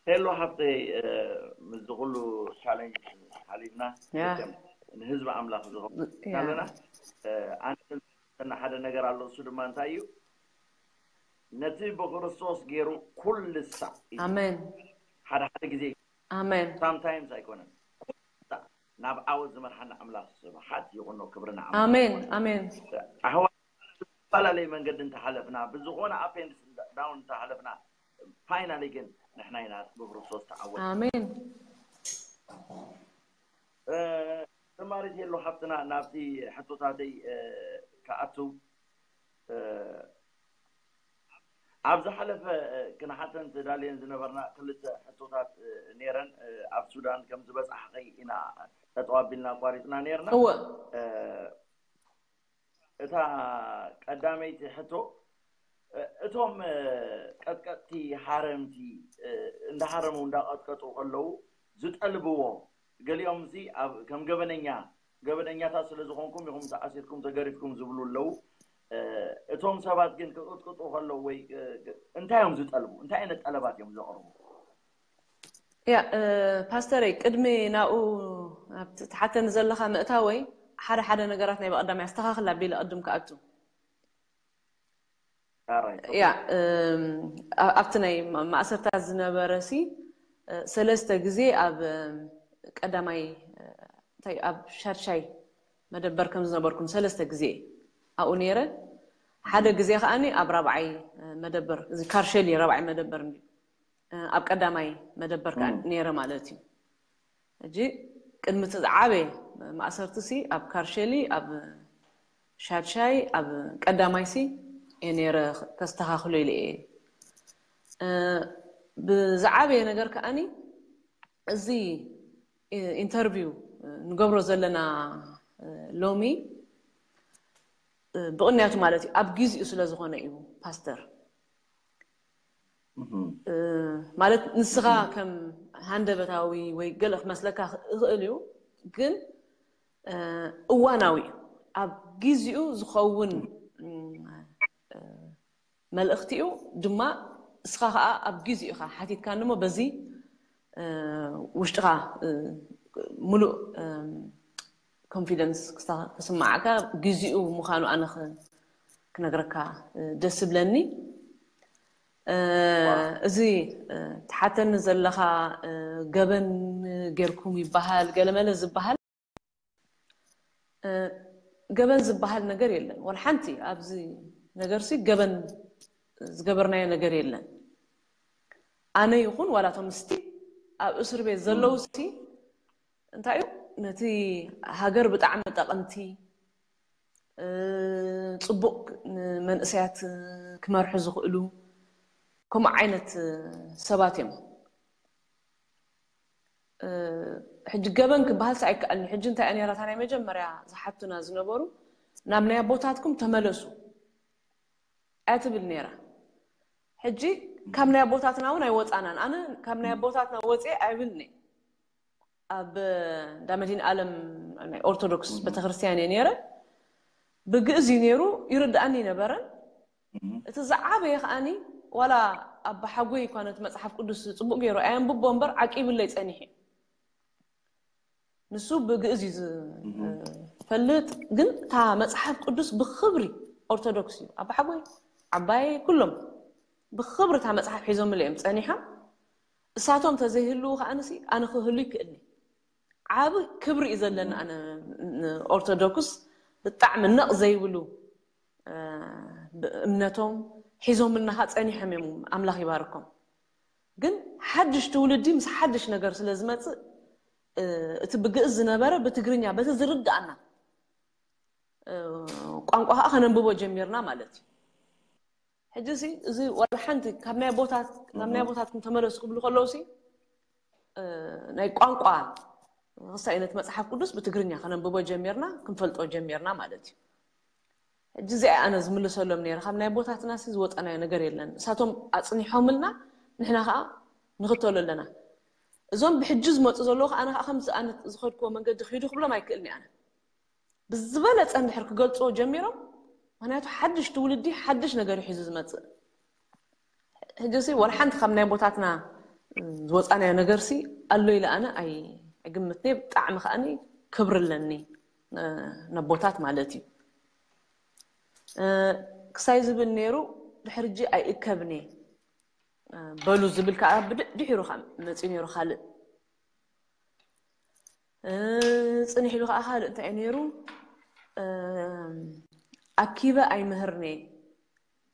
ሄሎ ሓፍተይ፣ ምስዚ ኩሉ ቻለንጅ ሓሊፍና፣ ያ። ንህዝቢ ኣምላኽ ዝኸውን ያ። ኣለና። ኣነ፣ ሓደ ነገር ኣሎ። እሱ ድማ እንታይ እዩ? ነቲ ብክርስቶስ ገይሩ ኩሉ ሳዕ እዩ። ኣሜን። ሓደ ሓደ ግዜ፣ ኣሜን። ሳምታይምስ ኣይኮነን፣ ኩሉ ሳዕ ናብ ዓወት ዝመርሓና ኣምላኽ ስብሓት ይኹኖ። ክብርና ኣምላኽ ኣሜን። ይኹኖ። ኣሜን። ኣሕዋት፣ ዝተፈላለየ መንገዲ እንተሓለፍና፣ ብዝኾነ ኣፕ ኤንድ ዳውን እንተሓለፍና፣ ፋይናሊ ግን ንሕና ኢና ብክርስቶስ ተዓወት። ኣሜን። ተማሪት የሎ ሓፍትና፣ ናብቲ ሕቶታተይ ክኣቱ፣ ኣብ ዝሓለፈ ክንሓተን ተዳልየን ዝነበርና ክልተ ሕቶታት ነይረን። ኣብ ሱዳን ከም ዝበፃሕኸይ ኢና ተጠዋቢልና ኣቋሪፅና ነይርና። እወ። እታ ቀዳመይቲ ሕቶ፣ እቶም ቀጥቀጥቲ፣ ሓረምቲ፣ እንዳሓረሙ እንዳቐጥቀጡ ከለዉ ዝጠልብዎ፣ ገሊኦም ሲ ኣብ ከም ገበነኛ፣ ገበነኛታት ስለ ዝኾንኩም ኢኹም ተኣሲርኩም ተገሪፍኩም ዝብሉ ኣለዉ። እቶም ሰባት ግን ክቕጥቅጡ ከለዉ ወይ እንታይ እዮም ዝጠልቡ? እንታይ ዓይነት ጠለባት እዮም ዘቕርቡ? ያ እ፣ ፓስተረይ፣ ቅድሚ ናብኡ ኣብቲ ትሓተኒ ዘለኻ ምእታወይ፣ ሓደ ሓደ ነገራት ናይ ብቐዳማይ ኣስተኻኽል ኣቢለ ቅድም ክኣቱ። ኣራይ፣ ያ እም፣ ኣ- ኣብቲ ናይ ማ- ማእሰርታት ዝነበረ ሲ እ፣ ሰለስተ ግዜ ኣብ እም፣ ቀዳማይ እ፣ እንታይ ኣብ ሻድሻይ መደበር ከም ዝነበርኩም ሰለስተ ግዜ ኣብኡ ነይረ። ሓደ ግዜ ከኣኒ ኣብ ራብዓይ እ፣ መደበር፣ እዚ ካርሸሊ ራብዓይ መደበር እንዲ እ፣ ኣብ ቀዳማይ መደበር ከኣ እም። ነይረ ማለት እዩ። ሕጂ ቅድሚ እቲ ዝዓበየ ማእሰርቲ ሲ ኣብ ካርሸሊ፣ ኣብ ሻድሻይ፣ ኣብ ቀዳማይ ሲ እየ ነይረ፣ ከስተኻኽሎ ኢለ እየ። እ፣ ብዝዓበየ ነገር ከኣኒ እዚ እ፣ ኢንተርቪው እ፣ ንገብሮ ዘለና እ፣ ሎሚ እ፣ ብቕንያቱ ማለት እዩ ኣብ ግዚኡ ስለ ዝኾነ እዩ ፓስተር። እህም። እ፣ ማለት ንስኻ ከም ሃንደበታዊ ወይ ገለ ክመስለካ ይኽእል እዩ፣ ግን እ፣ እዋናዊ እዩ። ኣብ ግዚኡ ዝኸውን እ፣ እ፣ መልእኽቲ እዩ ድማ። እስኻ ከዓ ኣብ ግዚኡ ኢኻ ሓቲትካኒ እሞ በዚ እ፣ ውሽጥኻ እ፣ ሙሉእ እ፣ ኮንፊደንስ ክስታ- ክስማዓካ ግዚኡ ምዃኑ ኣነ ክ- ክነግረካ እ፣ ደስ ዝብለኒ። እ፣ እዚ እ፣ ትሓተኒ ዘለኻ እ፣ ገበን ጌርኩም ይበሃል፣ ገለመለ ዝበሃል እ፣ ገበን ዝበሃል ነገር የለን። ዋላ ሓንቲ ኣብዚ ነገር ሲ ገበን ዝገበርናዮ ነገር የለን። ኣነ ይኹን ዋላ እቶም ስቲ ኣብ እስር ቤት ዘለዉ ሲ እንታይ እዩ ነቲ ሃገር ብጣዕሚ ጠቐምቲ እ፣ ጽቡቕ ንመንእሰያት ክመርሑ ዝኽእሉ ከምኡ ዓይነት ሰባት እዮም። እ፣ ሕጂ ገበን ክበሃልስ ኣይከኣልን። ሕጂ እንታይ እያ ነይራ እታ ናይ መጀመርያ ዝሓቱና ዝነበሩ፣ ናብ ናይ ኣቦታትኩም ተመለሱ እያ ትብል ነይራ። ሕጂ ካብ ናይ ኣቦታትና እውን ኣይወፃናን። ኣነ ካብ ናይ ኣቦታትና ወፅየ ኣይብልን እየ። ኣብ እንዳ መድህን ዓለም ናይ ኦርቶዶክስ ቤተክርስትያን እየ ነይረ። ብግእዝ እዩ ነይሩ፣ ይርድኣኒ ነበረን። እቲ ዝዓበየ ከዓኒ ዋላ ኣባ ሓጎይ እኳ ነቲ መጽሓፍ ቅዱስ ጽቡቕ ገይሩ ኣየንብቦ እምበር ዓቂብለይ ጸኒሑ። ንሱ ብግእዝ እዩ ዝፈልጥ፣ ግን እታ መጽሓፍ ቅዱስ ብኽብሪ ኦርቶዶክስ እዩ። ኣባ ሓጎይ፣ ዓባይ፣ ኩሎም ብኽብሪ እታ መጽሓፍ ሒዞምለይ እዮም ጸኒሖም። እሳቶም ተዘይህልዉ ከዓንሲ ኣነ ክህሉ ይክእልኒ። ዓብ ክብሪ እዩ ዘለኒ ኣነ ንኦርቶዶክስ ብጣዕሚ ነቕ ዘይብሉ እ፣ ብእምነቶም ሒዞምልና ኸዓ ጸኒሖም እዮም። ኣምላኽ ይባርኮም። ግን ሓድሽ ትውልዲ ምስ ሓድሽ ነገር ስለ ዝመጽእ እ፣ እቲ ብግእዝ ዝነበረ ብትግርኛ በቲ ዝርድኣና እ፣ ቋንቋ ኸዓ ከነንብቦ ጀሚርና ማለት እዩ። ሕጂ ሲ እዚ ዋላ ሓንቲ ካብ ናይ ኣቦታት ናብ ናይ ኣቦታትኩም ተመለሱ ክብሉ ከለዉ ሲ እ፣ ናይ ቋንቋ ክሳይ ነቲ መጽሓፍ ቅዱስ ብትግርኛ ከነንብቦ ጀሚርና ክንፈልጦ ጀሚርና ማለት እዩ። ሕጂ እዚኣ ኣነ ዝምልሰሎም ነይረ ካብ ናይ ኣቦታትና ሲ ዝወፀናዮ ነገር የለን። እሳቶም ኣፅኒሖምልና ንሕና ከዓ ንኽተሎ ኣለና። እዞም ብሕጂ ዝመፁ ዘለዉ ከዓ ኣነ ከዓ ከምዚ ኣነ ዝኸድክዎ መንገዲ ክሂዱ ክብሎም ኣይክእልን እየ ኣነ። ብዝበለፀ እንድሕር ክገልፅዎ ጀሚሮም፣ ምክንያቱ ሓድሽ ትውልዲ ሓድሽ ነገር እዩ ሒዙ ዝመፅእ። ሕጂ ሲ ወላ ሓንቲ ካብ ናይ ኣቦታትና ዝወፃናዮ ነገርሲ ኣሎ ኢለ ኣነ ኣይ- ኣይግምትኒ። ብጣዕሚ ከዓኒ ክብሪ ኣለኒ ነቦታት ማለት እዩ። ክሳይ ዝብል ነይሩ፣ ድሕርጂ ኣይእከብኒ በሉ ዝብል ከዓ ድሒሩ ከዓ መፅኡ ነይሩ። ካልእ ፅንሕ ኢሉ ከዓ ካልእ እንታይ ነይሩ? ኣኪበ ኣይምህርኒ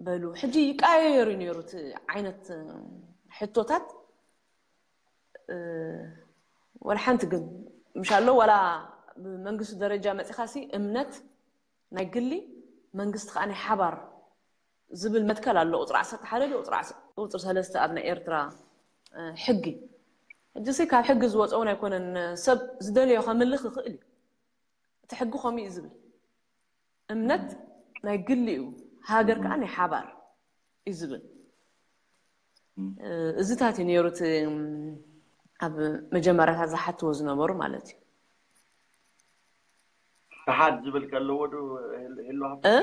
በሉ። ሕጂ ይቀያየሩ ነይሩ እቲ ዓይነት ሕቶታት። ወላ ሓንቲ ግን ምሻሎ ዋላ ብመንግስቲ ደረጃ መፂኻሲ እምነት ናይ ግሊ መንግስቲ ከዓ ናይ ሓባር ዝብል መትከል ኣሎ። ቁፅሪ ዓሰርተ ሓደ ቁፅሪ ሰለስተ ኣብ ናይ ኤርትራ ሕጊ። ሕጂ ሲ ካብ ሕጊ ዝወፀውን ኣይኮነን። ሰብ ዝደለዮ ከምልኽ ይኽእል እዩ። እቲ ሕጊ ከምኡ እዩ ዝብል። እምነት ናይ ግሊ እዩ፣ ሃገር ከዓ ናይ ሓባር እዩ ዝብል። እዚታት እዩ ነይሩ እቲ ኣብ መጀመርያታት ዝሓትዎ ዝነበሩ ማለት እዩ። ክሓድ ዝብል ከለዎ ዶ ህሉ ሃብቲ እ?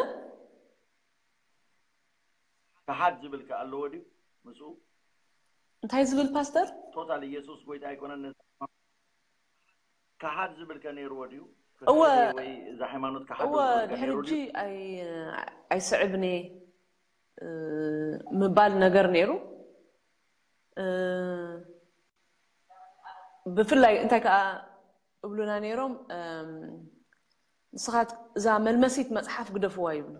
ክሓድ ዝብል ከ ኣለዎ ድዩ ምስኡ? እንታይ ዝብል ፓስተር? ቶታል ኢየሱስ ጎይታ ኣይኮነን ነዚ ክሓድ ዝብል ከ ነይርዎ ድዩ? እወ። ወይ እዛ ሃይማኖት ክሓድ እወ ዝብል ከ ድሕሪ ነይሩ ሕጂ ድዩ? ኣይ ኣይስዕብኒ እ፣ ምባል ነገር ነይሩ። እ፣ ብፍላይ እንታይ ከዓ እብሉና ነይሮም እም፣ ንስኻት እዛ መልመሲት መፅሓፍ ግደፍዋ ይብሉ።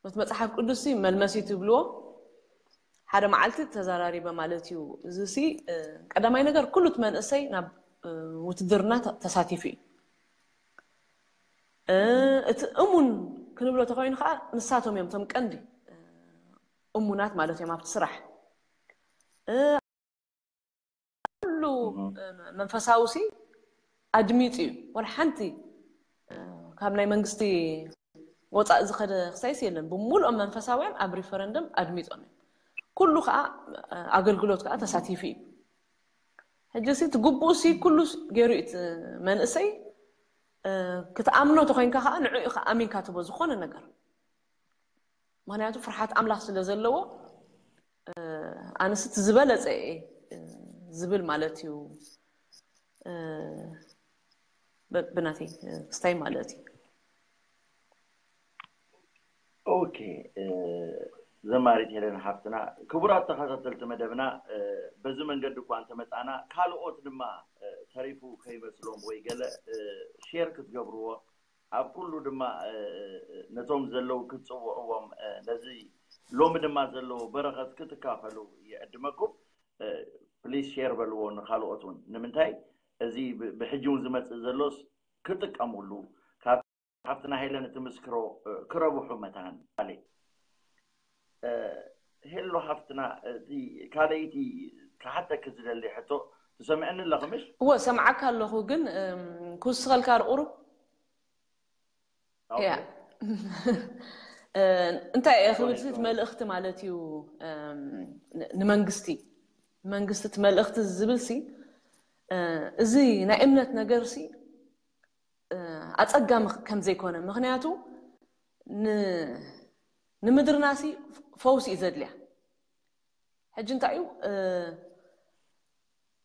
ነቲ መፅሓፍ ቅዱስ ሲ መልመሲት ይብልዎ። ሓደ መዓልቲ ተዘራሪበ ማለት እዩ። እዚ ሲ እ፣ ቀዳማይ ነገር ኩሉ እቲ መንእሰይ ናብ እ፣ ውትድርና ተ- ተሳቲፉ እዩ። እ፣ እቲ እሙን ክንብሎ ተኮይኑ ከዓ ንሳቶም እዮም እቶም ቀንዲ እ፣ እሙናት ማለት እዮም ኣብቲ ስራሕ እ፣ ኩሉ እ፣ መንፈሳዊ ሲ ኣድሚጡ እዩ። ወላ ሓንቲ እ፣ ካብ ናይ መንግስቲ ወፃእ ዝኸደ ክሳይስ የለን። ብምሉኦም መንፈሳውያን ኣብ ሪፈረንደም ኣድሚጦም እዮም። ኩሉ ከዓ እ፣ ኣገልግሎት ከዓ ተሳቲፉ እዩ። ሕጂ ሲ እቲ ግቡእ ሲ ኩሉ ገይሩ እዩ እቲ መንእሰይ እ፣ ክትኣምኖ ተኮይንካ ከዓ ንዕኡ ኢኻ ኣሚንካ ትቦ ዝኾነ ነገር። ምክንያቱ ፍርሓት ኣምላኽ ስለ ዘለዎ እ፣ ኣነስ እቲ ዝበለፀ እየ እ፣ ዝብል ማለት እዩ እ፣ ብ- ብናተይ እ፣ ክስታይ ማለት እዩ። ኦኬ እ፣ ዘማሪት ሄለን ሓፍትና፣ ክቡራት ተኸታተልቲ መደብና እ፣ በዚ መንገዲ እኳ እንተመፃና ካልኦት ድማ እ፣ ተሪፉ ከይመስሎም ወይ ገለ እ፣ ሼር ክትገብርዎ ኣብ ኩሉ ድማ እ፣ ነቶም ዘለዉ ክትፅውዕዎም እ፣ ነዚ ሎሚ ድማ ዘለዎ በረኸት ክትካፈሉ ይዕድመኩም። እ፣ ፕሊዝ ሼር በልዎ ንካልኦት እውን። ንምንታይ እዚ ብ- ብሕጂ እውን ዝመፅእ ዘሎስ ክጥቀሙሉ ካብ ሓፍትና ሄለን እትምስክሮ እ፣ ክረብሑ መታን ካልእ እ፣ ሄሎ ሓፍትና እቲ ካልኣይቲ ክሓተኪ ዝደሊ ሕቶ ትሰምዕኒ ኣለኺ ምሽ? እወ ሰምዓካ ኣለኹ ግን እም፣ ክውስኸልካ ቁሩብ ኦኬ። ያ እ፣ እንታይ እየ ክብል ሶሪ፣ ስቲ ሶሪ። መልእኽቲ ማለት እዩ እም፣ ን- ንመንግስቲ መንግስቲ እቲ መልእኽቲ ዝብል ሲ እ፣ እዚ ናይ እምነት ነገር ሲ እ፣ ኣፀጋሚ ከም ዘይኮነ ምክንያቱ ን- ንምድርና ሲ ፈውሲ እዩ ዘድልያ። ሕጂ እንታይ እዩ እ፣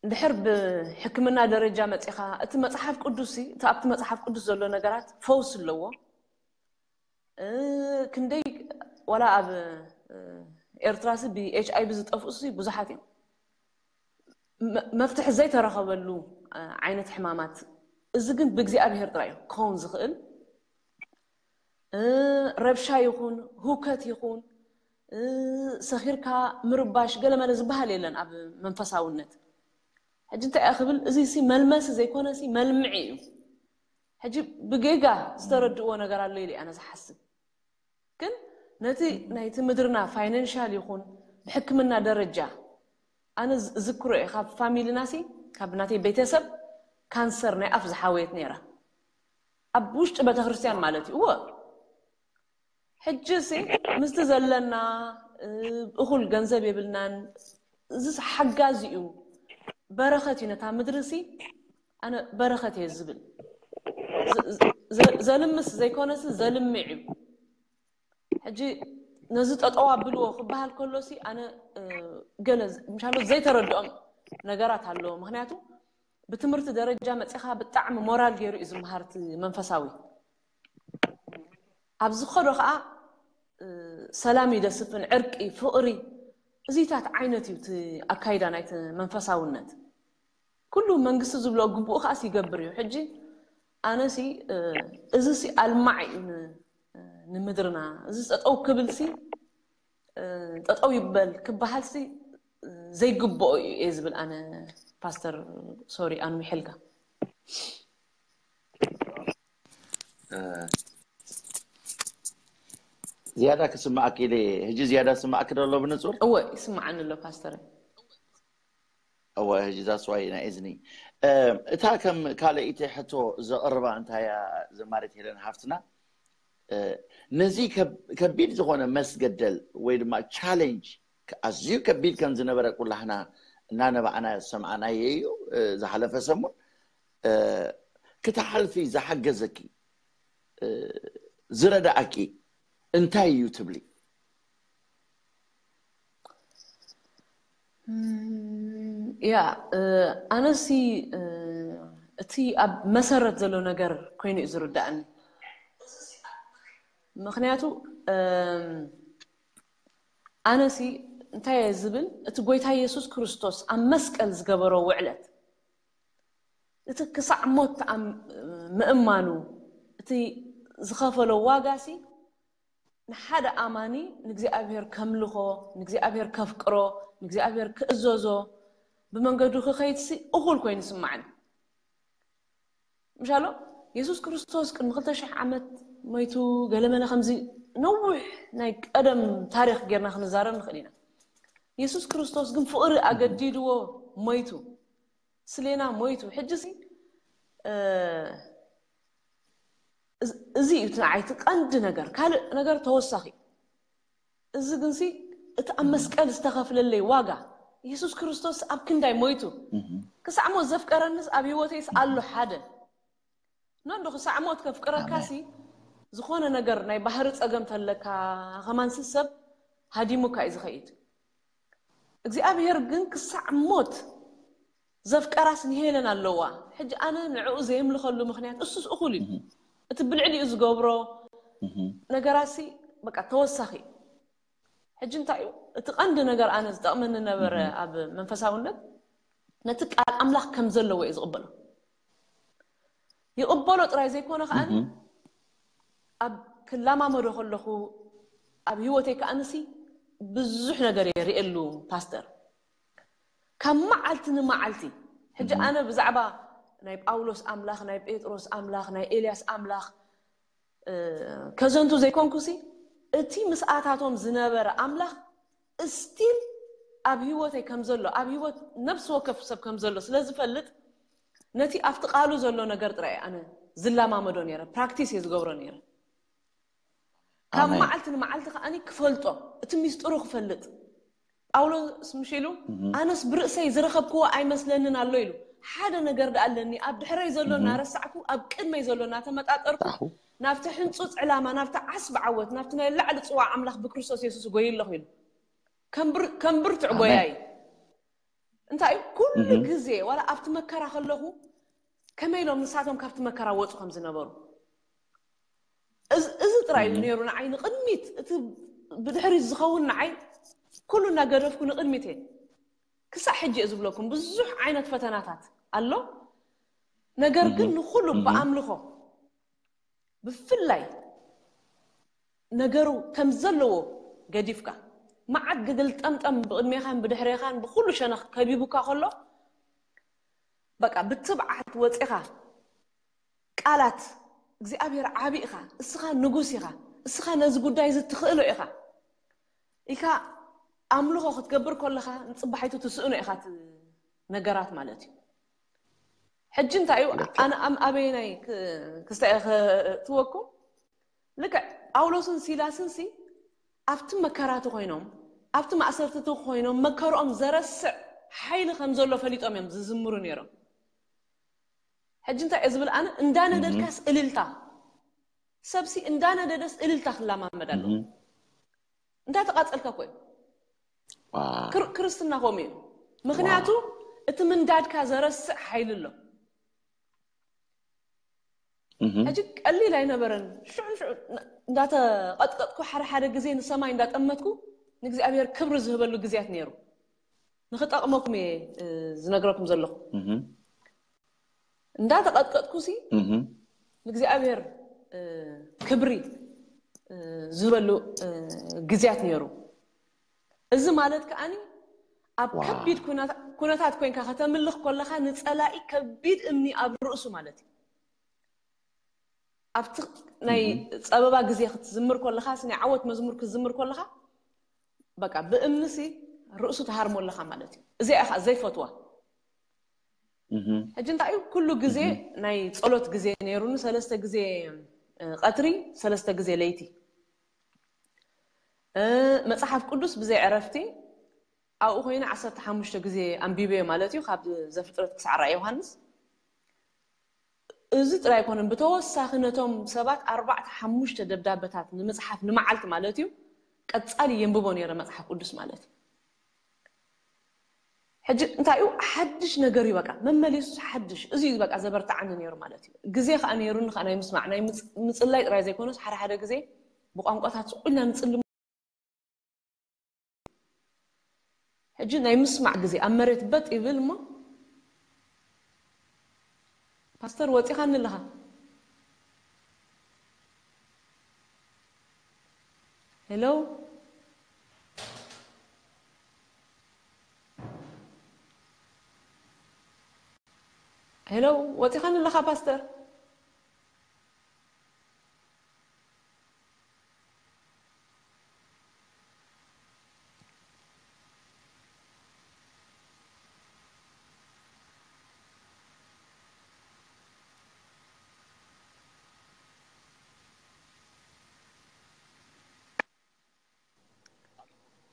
እንድሕር ብሕክምና ደረጃ መፂኻ እቲ መፅሓፍ ቅዱስ ሲ እቲ ኣብቲ መፅሓፍ ቅዱስ ዘሎ ነገራት ፈውሲ ኣለዎ። እ፣ ክንደይ ዋላ ኣብ እ፣ ኤርትራ ሲ ብኤች ኣይ ቪ ዝጠፍኡ ሲ ብዙሓት እዮም። መ- መፍትሒ ዘይተረኸበሉ እ፣ ዓይነት ሕማማት እዚ ግን ብእግዚኣብሔር ጥራይ እዩ ክኸውን ዝኽእል። እ፣ ረብሻ ይኹን ህውከት ይኹን እ፣ ሰኺርካ ምርባሽ ገለመለ ዝበሃል የለን ኣብ መንፈሳውነት። ሕጂ እንታይ እያ ክብል እዚ ሲ መልመሲ ዘይኮነ ሲ መልምዒ እዩ። ሕጂ ብጌጋ ዝተረድእዎ ነገር ኣሎ ኢለ ኣነ ዝሓስብ። ግን ነቲ ናይቲ ምድርና ፋይናንሻል ይኹን ብሕክምና ደረጃ ኣነ ዝ- ዝክሮ እየ ካብ ፋሚሊና ሲ ካብ ናተይ ቤተሰብ ካንሰር ናይ ኣፍ ዝሓወየት ነይራ ኣብ ውሽጢ ቤተክርስትያን ማለት እዩ። እወ ሕጂ ሲ ምስቲ ዘለና እ፣ እኹል ገንዘብ የብልናን። እዚ ሓጋዚ እዩ፣ በረኸት እዩ ነታ ምድሪ ሲ ኣነ በረኸት እየ ዝብል ዘ- ዘ- ዘልምስ ዘይኮነሲ ዘልምዕ እዩ። ሕጂ ነዚ ጠጠው ኣብልዎ ክበሃል ከሎ ሲ ኣነ እ፣ ገለ ዝ- ምሻሎ ዘይተረድኦም ነገራት ኣለዎ። ምክንያቱ ብትምህርቲ ደረጃ መፂኻ ብጣዕሚ ሞራል ገይሩ እዩ ዝመሃር እቲ መንፈሳዊ። ኣብ ዝኸዶ ከዓ ሰላም ይደስፍን፣ ዕርቂ፣ ፍቕሪ፣ እዚታት ዓይነት እዩ እቲ ኣካይዳ ናይቲ መንፈሳውነት። ኩሉ መንግስቲ ዝብሎ ግቡኡ ከዓስ ይገብር እዩ። ሕጂ ኣነሲ እዚሲ ኣልማዕ እዩ ንምድርና። እዚ ጠጠው ክብልሲ ጠጠው ይበል ክበሃልሲ ዘይግብኦ እዩ እየ ዝብል ኣነ። ፓስተር ሶሪ ኣንዊሐልካ። ዝያዳ ክስማዕ ክኢለ። ሕጂ ዝያዳ ስማዕ ክደሎ ብንጹር? እወ ይስማዓኒ ኣሎ ፓስተር። እወ ሕጂ that's why ናይ እዝኒ እታ ከም ካልኣይቲ ሕቶ ዘቕርባ እንታያ ዘማሪት ሄለን ሓፍትና፣ ነዚ ከቢድ ዝኾነ መስገደል ወይ ድማ ቻሌንጅ ኣዝዩ ከቢድ ከም ዝነበረ ኩላህና እናነባዕና ዝሰምዓናዮ እዩ። ዝሓለፈ ሰሙን ክትሓልፊ ዝሓገዘኪ ዝረዳእኪ እንታይ እዩ ትብሊ? ያ ኣነሲ እቲ ኣብ መሰረት ዘሎ ነገር ኮይኑ እዩ ዝርዳእኒ። ምክንያቱ ኣነሲ እንታይ እየ ዝብል፣ እቲ ጎይታ የሱስ ክርስቶስ ኣብ መስቀል ዝገበሮ ውዕለት፣ እቲ ክሳዕ ሞት ምእማኑ፣ እቲ ዝኸፈሎ ዋጋሲ ንሓደ ኣማኒ ንእግዚኣብሔር ከምልኾ፣ ንእግዚኣብሔር ከፍቅሮ፣ ንእግዚኣብሔር ክእዘዞ፣ ብመንገዱ ክኸይድሲ እኹል ኮይኑ ይስማዕኒ። ምሻሎ የሱስ ክርስቶስ ቅድሚ ክልተ ሽሕ ዓመት ሞይቱ፣ ገለመለ ከምዚ ነዊሕ ናይ ቀደም ታሪኽ ጌርና ክንዛረብ ንኽእል ኢና። የሱስ ክርስቶስ ግን ፍቕሪ ኣገዲድዎ ሞይቱ፣ ስሌና ሞይቱ። ሕጂ ሲ እዚ እዩ እቲ ንዓይ እቲ ቀንዲ ነገር። ካልእ ነገር ተወሳኺ። እዚ ግንሲ እቲ ኣብ መስቀል ዝተኸፍለለይ ዋጋ፣ የሱስ ክርስቶስ ኣብ ክንዳይ ሞይቱ፣ ክሳዕ ሞት ዘፍቀረንስ ኣብ ህይወተይስ ኣሎ ሓደ። ኖ እንዶ ክሳዕ ሞት ከፍቅረካሲ ዝኾነ ነገር ናይ ባህሪ ጸገም ተለካ ከማንሲ ሰብ ሃዲሙካ እዩ ዝኸይድ። እግዚኣብሔር ግን ክሳዕ ሞት ዘፍቀራስ ንሄለን ኣለዋ። ሕጂ ኣነ ንዕኡ ዘየምልኸሉ ምክንያት እሱስ እኹል እዩ። እቲ ብልዕሊኡ ዝገብሮ ነገራሲ በቃ ተወሳኺ። ሕጂ እንታይ እዩ እቲ ቀንዲ ነገር ኣነ ዝጠቕመኒ ነበረ ኣብ መንፈሳውነት፣ ነቲ ቃል ኣምላኽ ከም ዘለዎ እዩ ዝቕበሎ። ይቕበሎ ጥራይ ዘይኮነ ከኣኒ ኣብ ክላማመዶ ከለኹ ኣብ ህይወተይ ከኣንሲ ብዙሕ ነገር እየ ርእየሉ ፓስተር። ካብ መዓልቲ ንመዓልቲ ሕጂ ኣነ ብዛዕባ ናይ ጳውሎስ ኣምላኽ፣ ናይ ጴጥሮስ ኣምላኽ፣ ናይ ኤልያስ ኣምላኽ ከዘንቱ ዘይኮንኩሲ፣ እቲ ምስኣታቶም ዝነበረ ኣምላኽ እስቲል ኣብ ህይወተይ ከም ዘሎ፣ ኣብ ህይወት ነፍሲ ወከፍ ሰብ ከም ዘሎ ስለ ዝፈልጥ፣ ነቲ ኣብቲ ቃሉ ዘሎ ነገር ጥራይ ኣነ ዝላማመዶ ነይረ፣ ፕራክቲስ እየ ዝገብሮ ነይረ። ካብ መዓልቲ ንመዓልቲ ከኣኒ ክፈልጦ፣ እቲ ሚስጥሩ ክፈልጥ። ጳውሎስ ምሽ ኢሉ ኣነስ ብርእሰይ ዝረኸብክዎ ኣይመስለንን ኣሎ ኢሉ። ሓደ ነገር ደኣ ኣለኒ፣ ኣብ ድሕረይ ዘሎ እናረሳዕኩ ኣብ ቅድመይ ዘሎ እናተመጣጠርኩ ናብቲ ሕንጹጽ ዕላማ፣ ናብቲ ዓስቢ ዓወት፣ ናብቲ ናይ ላዕሊ ጽዋዕ ኣምላኽ ብክርስቶስ የሱስ እጎይ ኣለኹ ኢሉ። ከም ብርቱዕ ጎያይ እንታይ እዩ ኩሉ ግዜ ዋላ ኣብቲ መከራ ከለኹ ከመይ ኢሎም ንሳቶም ካብቲ መከራ ወፁ ከም ዝነበሩ እዚ ጥራይ እዩ ነይሩ ንዓይ ንቕድሚት። እቲ ብድሕሪት ዝኸውን ንዓይ ኩሉ እናገደፍኩ ንቕድሚት እየ። ክሳዕ ሕጂ እየ ዝብለኩም ብዙሕ ዓይነት ፈተናታት ኣሎ። ነገር ግን ንኩሉ ብኣምልኾ ብፍላይ ነገሩ ከም ዘለዎ ገዲፍካ፣ መዓት ግግል ጠምጠም ብቕድሜኻን ብድሕሬኻን ብኹሉ ሸነኽ ከቢቡካ ከሎ፣ በቃ ብትብዓት ወፂኻ ቃላት እግዚኣብሔር ዓቢ ኢኻ፣ እስኻ ንጉስ ኢኻ፣ እስኻ ነዚ ጉዳይ እዚ ትኽእሎ ኢኻ ኢልካ ኣምልኾ ክትገብር ከለኻ ንፅባሒቱ ትስእኖ ኢኻ እቲ ነገራት ማለት እዩ። ሕጂ እንታይ እዩ ኣነ ኣም ኣበየናይ ክስታይ ክእትወኩም? ልክዕ ጳውሎስን ሲላስን ሲ ኣብቲ መከራቲ ኮይኖም ኣብቲ ማእሰርትቲ ኮይኖም መከርኦም ዘረስዕ ሓይሊ ከም ዘሎ ፈሊጦም እዮም ዝዝምሩ ነይሮም። ሕጂ እንታይ እየ ዝብል ኣነ እንዳነደድካስ እልልታ ሰብሲ እንዳነደደስ እልልታ ክላማመድ ኣለዎ። እንዳተቃጸልካ እኮ እዩ። ክርስትና ከምኡ እዩ። ምክንያቱ እቲ ምንዳድካ ዘረስዕ ሓይሊ ኣሎ። ሕጂ ቀሊል ኣይነበረን። ሽዑ ሽዑ እንዳተቐጥቀጥኩ ሓደ ሓደ ግዜ ንሰማይ እንዳጠመትኩ ንእግዚኣብሔር ክብሪ ዝህበሉ ግዜያት ነይሩ። ንኽጠቕመኩም እየ ዝነግረኩም ዘለኹ። እንዳተቐጥቀጥኩ ሲ ንእግዚኣብሔር ክብሪ ዝህበሉ ግዜያት ነይሩ። እዚ ማለት ከዓኒ ኣብ ከቢድ ኩነታት ኮይንካ ከተምልኽ ከለኻ ንጸላኢ ከቢድ እምኒ ኣብ ርእሱ ማለት እዩ። ኣብቲ ናይ ጸበባ ግዜ ክትዝምር ከለኻ ናይ ዓወት መዝሙር ክትዝምር ከለኻ በቃ ብእምንሲ ርእሱ ትሃርሞ ኣለኻ ማለት እዩ። እዚኣ ኢኻ ዘይፈትዋ። ሕጂ እንታይ እዩ ኩሉ ግዜ ናይ ጸሎት ግዜ ነይሩኒ፣ ሰለስተ ግዜ ቀትሪ፣ ሰለስተ ግዜ ለይቲ። መጽሓፍ ቅዱስ ብዘይ ዕረፍቲ ኣብኡ ኮይነ ዓሰርተ ሓሙሽተ ግዜ ኣንቢበዮ ማለት እዩ፣ ካብ ዘፍጥረት ክሳዕ ራእይ ዮሃንስ። እዚ ጥራይ ኣይኮነን፣ ብተወሳኺ ነቶም ሰባት ኣርባዕተ ሓሙሽተ ደብዳበታት ንምጽሓፍ ንመዓልቲ ማለት እዩ ቀጻሊ የንብቦ ነይረ መጽሓፍ ቅዱስ ማለት እዩ። ሕጂ እንታይ እዩ ሓድሽ ነገር እዩ፣ በቃ መመሊሱ ሓድሽ። እዚ እዩ በቃ ዘበርትዓኒ ነይሩ ማለት እዩ። ግዜ ከዓ ነይሩኒ ከዓ ናይ ምስማዕ ናይ ምጽ- ምጽላይ ጥራይ ዘይኮነስ ሓደ ሓደ ግዜ ብቋንቋታት ስቕ ኢልና ንጽሊ። ሕጂ ናይ ምስማዕ ግዜ ኣብ መሬት በጥ ይብል እሞ ፓስተር ወፂኻኒ ኣለኻ። ሄሎ ሄሎ፣ ወፂኻኒ ኣለኻ ፓስተር።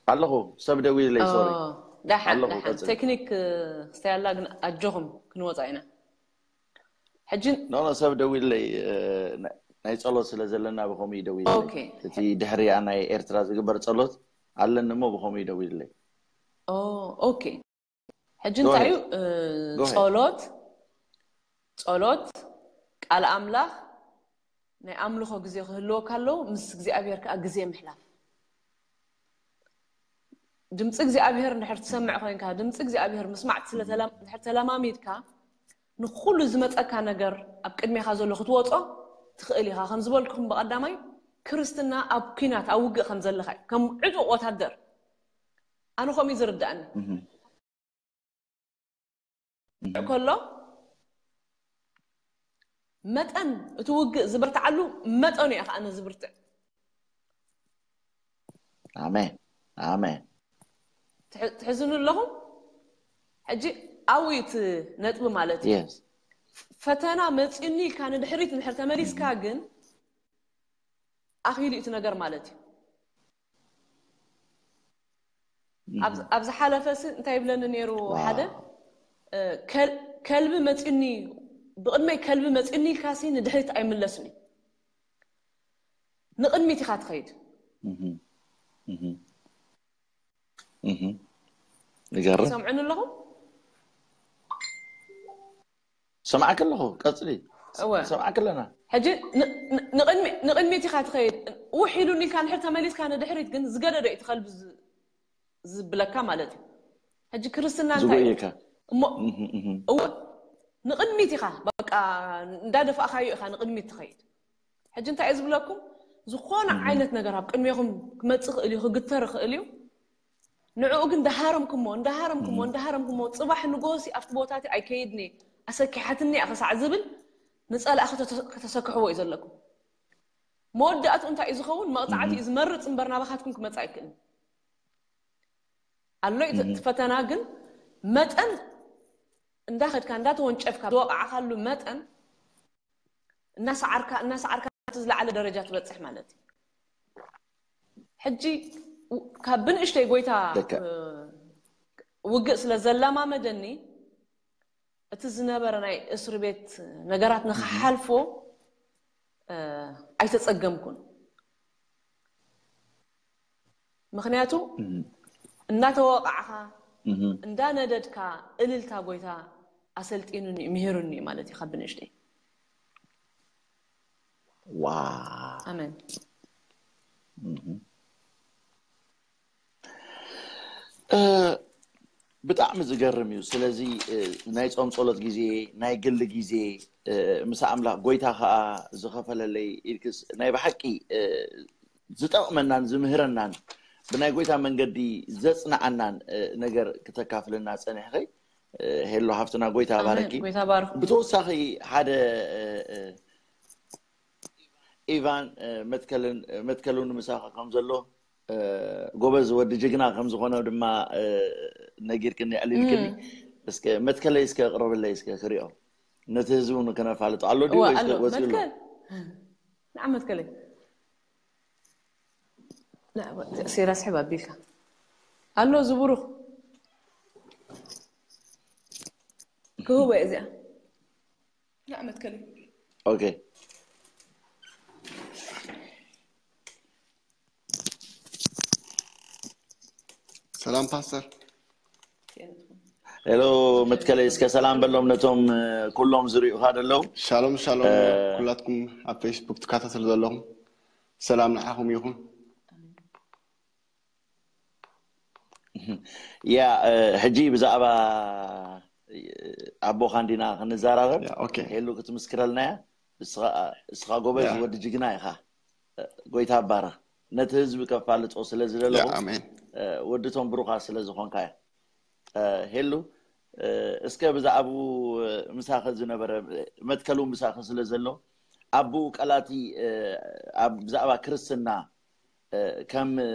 ኣለኹ፣ ሰብ ደዊልለይ። ሶሪ ዳሓን ኣለኹ፣ ዳሓን ቀጽሊ። ቴክኒክ ክስተያላ ግን ኣጆኹም ክንወፃ ኢና። ሕጂ ኖ ኖ፣ ሰብ ደዊልለይ። ናይ ጸሎት ስለ ዘለና ብኸምኡ እዩ ደዊልለይ። ኦኬ። እቲ ድሕሪኣ ናይ ኤርትራ ዝግበር ጸሎት ኣለኒ እሞ ብኸምኡ እዩ ደዊልለይ። ኦ ኦኬ። ሕጂ እንታይ እዩ እ፣ Go ahead. ጸሎት ጸሎት ቃል ኣምላኽ ናይ ኣምልኾ ግዜ ክህልወካ ኣለዎ፣ ምስ እግዚኣብሔር ከዓ ግዜ ምሕላፍ። ድምፂ እግዚኣብሔር እንድሕር ትሰምዕ ኮይንካ፣ ድምፂ እግዚኣብሔር ምስማዕ ስለ ተላ- እንድሕር ተለማሚድካ፣ ንኩሉ ዝመፀካ ነገር ኣብ ቅድሜኻ ዘሎ ክትወፆ ትኽእል ኢኻ። ከም ዝበልኩኹም ብቐዳማይ ክርስትና ኣብ ኲናት ኣብ ውግእ ከም ዘለኻ እዩ፣ ከም ዕጡቕ ወታደር። ኣነ ከምኡ እዩ ዝርዳእኒ። ከሎ መጠን እቲ ውግእ ዝበርትዓሉ መጠኑ እየ ከዓነ ዝብርትዕ። ኣሜን ኣሜን። ትሕ- ትሕዝኑ ኣለኹም። ሕጂ ኣብኡ እዩ እቲ ነጥቢ ማለት እዩ። የስ ፈተና መፂኡኒ ኢልካ ንድሕሪት እንድሕር ተመሊስካ ግን ኣኺሉ እቲ ነገር ማለት እዩ። ኣብ- ኣብ ዝሓለፈ ሲ እንታይ ይብለኒ ነይሩ ሓደ እ፣ ከል- ከልቢ መፂኒ ብቕድመይ ከልቢ መፂኒ ኢልካ ሲ ንድሕሪት ኣይምለስን እዩ። ንቕድሚት ኢኻ ትኸይድ። ይገርም። ሰምዑኒ ኣለኹም። ሰማዕክ ኣለኹ፣ ቀፅሊ። እወ ሰማዕክ ኣለና። ሕጂ ን- ን- ንቕድሚ- ንቕድሚት ኢኻ ትኸይድ። ውሕ ኢሉኒ ኢልካ ንድሕር ተመሊስካ ንድሕሪት ግን ዝገደደ እዩ እቲ ከልቢ ዝ- ዝብለካ ማለት እዩ። ሕጂ ክርስትና እንታይ እዩ? ዝጎየካ። እሞ እህ፣ እህ። እወ ንቕድሚት ኢኻ በቃ እንዳደፋእካዮ ኢኻ ንቕድሚት ትኸይድ። ሕጂ እንታይ እየ ዝብለኩም፣ ዝኾነ ዓይነት ነገር ኣብ ቅድሜኹም ክመፅእ ክእል እዩ፣ ክግተር ይኽእል እዩ። ንዕኡ ግን እንዳሃረምኩሞ እንዳሃረምኩሞ እንዳሃረምኩሞ ፅባሕ ንጎሲ ኣብቲ ቦታ እቲ ኣይከይድኒ፣ ኣሰኪሓትኒ እያ ክሳዕ ዝብል ንፀላእ ከተሰክሕዎ እዩ ዘለኩም። መወዳእቱ እንታይ እዩ ዝኸውን? መቕፃዕቲ እዩ ዝመርፅ እምበር ናባኻትኩም ክመፅእ ኣይክእልን። ኣሎ እዩ እቲ ፈተና፣ ግን መጠን እንዳኸድካ እንዳተወንጨፍካ ዝወቃዕካሉ መጠን እናሰዓርካ እናሰዓርካ እቲ ዝለዓለ ደረጃ ትበፅሕ ማለት እዩ። ሕጂ ካብ ብንእሽተይ ጎይታ ደካ- ውግእ ስለ ዘላማመደኒ እቲ ዝነበረ ናይ እስር ቤት ነገራት ንክሓልፎ ኣይተፀገምኩን። ምክንያቱ እናተወቃዕካ እንዳነደድካ እልልታ ጎይታ ኣሰልጢኑኒ ምሂሩኒ ማለት እዩ ካብ ብንእሽተይ። ዋ ኣሜን። እ፣ ብጣዕሚ ዝገርም እዩ። ስለዚ እ፣ ናይ ጾም ጸሎት ግዜ፣ ናይ ግሊ ግዜ እ፣ ምስ ኣምላኽ፣ ጎይታ ከኣ ዝኸፈለለይ ኢልክስ ናይ ብሓቂ እ፣ ዝጠቕመናን ዝምህረናን ብናይ ጎይታ መንገዲ ዘጽንዓናን እ፣ ነገር ክተካፍልና ጸኒሕኺ እ፣ ሄሎ ሃፍትና፣ ጎይታ ኣሜን። ባረኪ። ጎይታ ባርኩ። ብተወሳኺ ሓደ እ፣ እ፣ ኢቫን እ፣ መትከልን እ፣ መትከል እውን ምሳኻ ከም ዘሎ እ፣ ጎበዝ ወዲ ጅግና ከም ዝኾነ ድማ እ፣ ነጊርክኒ፣ ኣዕሊልክኒ። እስከ መትከለይ እስከ ቅረብለይ እስከ ክሪኦ፣ ነቲ ህዝቢ እውን ክነፋልጦ። ኣሎ ድዩ እዋ ወይስ ኣሎ ወፂኡ ኣሎ? መትከል ንዓ መትከለይ ንዓ፣ እዚኣ ሴራ ስሕብ ኣቢልካ ኣሎ ዝብሩኽ ክህቦ እየ እዚኣ ንዓ መትከለይ ኦኬ። ሰላም ፓስተር። ሄሎ መትከለይ፣ እስከ ሰላም በሎም ነቶም እ፣ ኩሎም ዝሪኡኻ ዘለዉ። ሻሎም ሻሎም እ፣ ኩላትኩም ኣብ ፌስቡክ ትከታተሉ ዘለኹም ሰላም ንዓኹም ይኹን። ያ እ፣ ሕጂ ብዛዕባ እ፣ ኣቦኻ እንዲና ክንዘራረብ። ያ፣ ኦኬ። ሄሉ ክትምስክረልና እያ። እስኻ እስኻ ጎበዝ ያ። ወዲ ጅግና ኢኻ። እ፣ ጎይታ ባርኽ። ነቲ ህዝቢ ከፋልጦ ስለ ያ፣ ዝደለኹ ኣሜን። እ፣ ወዲ ቶም ብሩኻ ስለ ዝኾንካ እያ። እ፣ ሄሉ እ፣ እስከ ብዛዕባኡ እ፣ ምሳኸ ዝነበረ እ፣ መትከሉ ምሳኸ ስለ ዘሎ ኣቦኡ ቀላቲ እ፣ ኣብ ብዛዕባ ክርስትና እ፣ ከም እ፣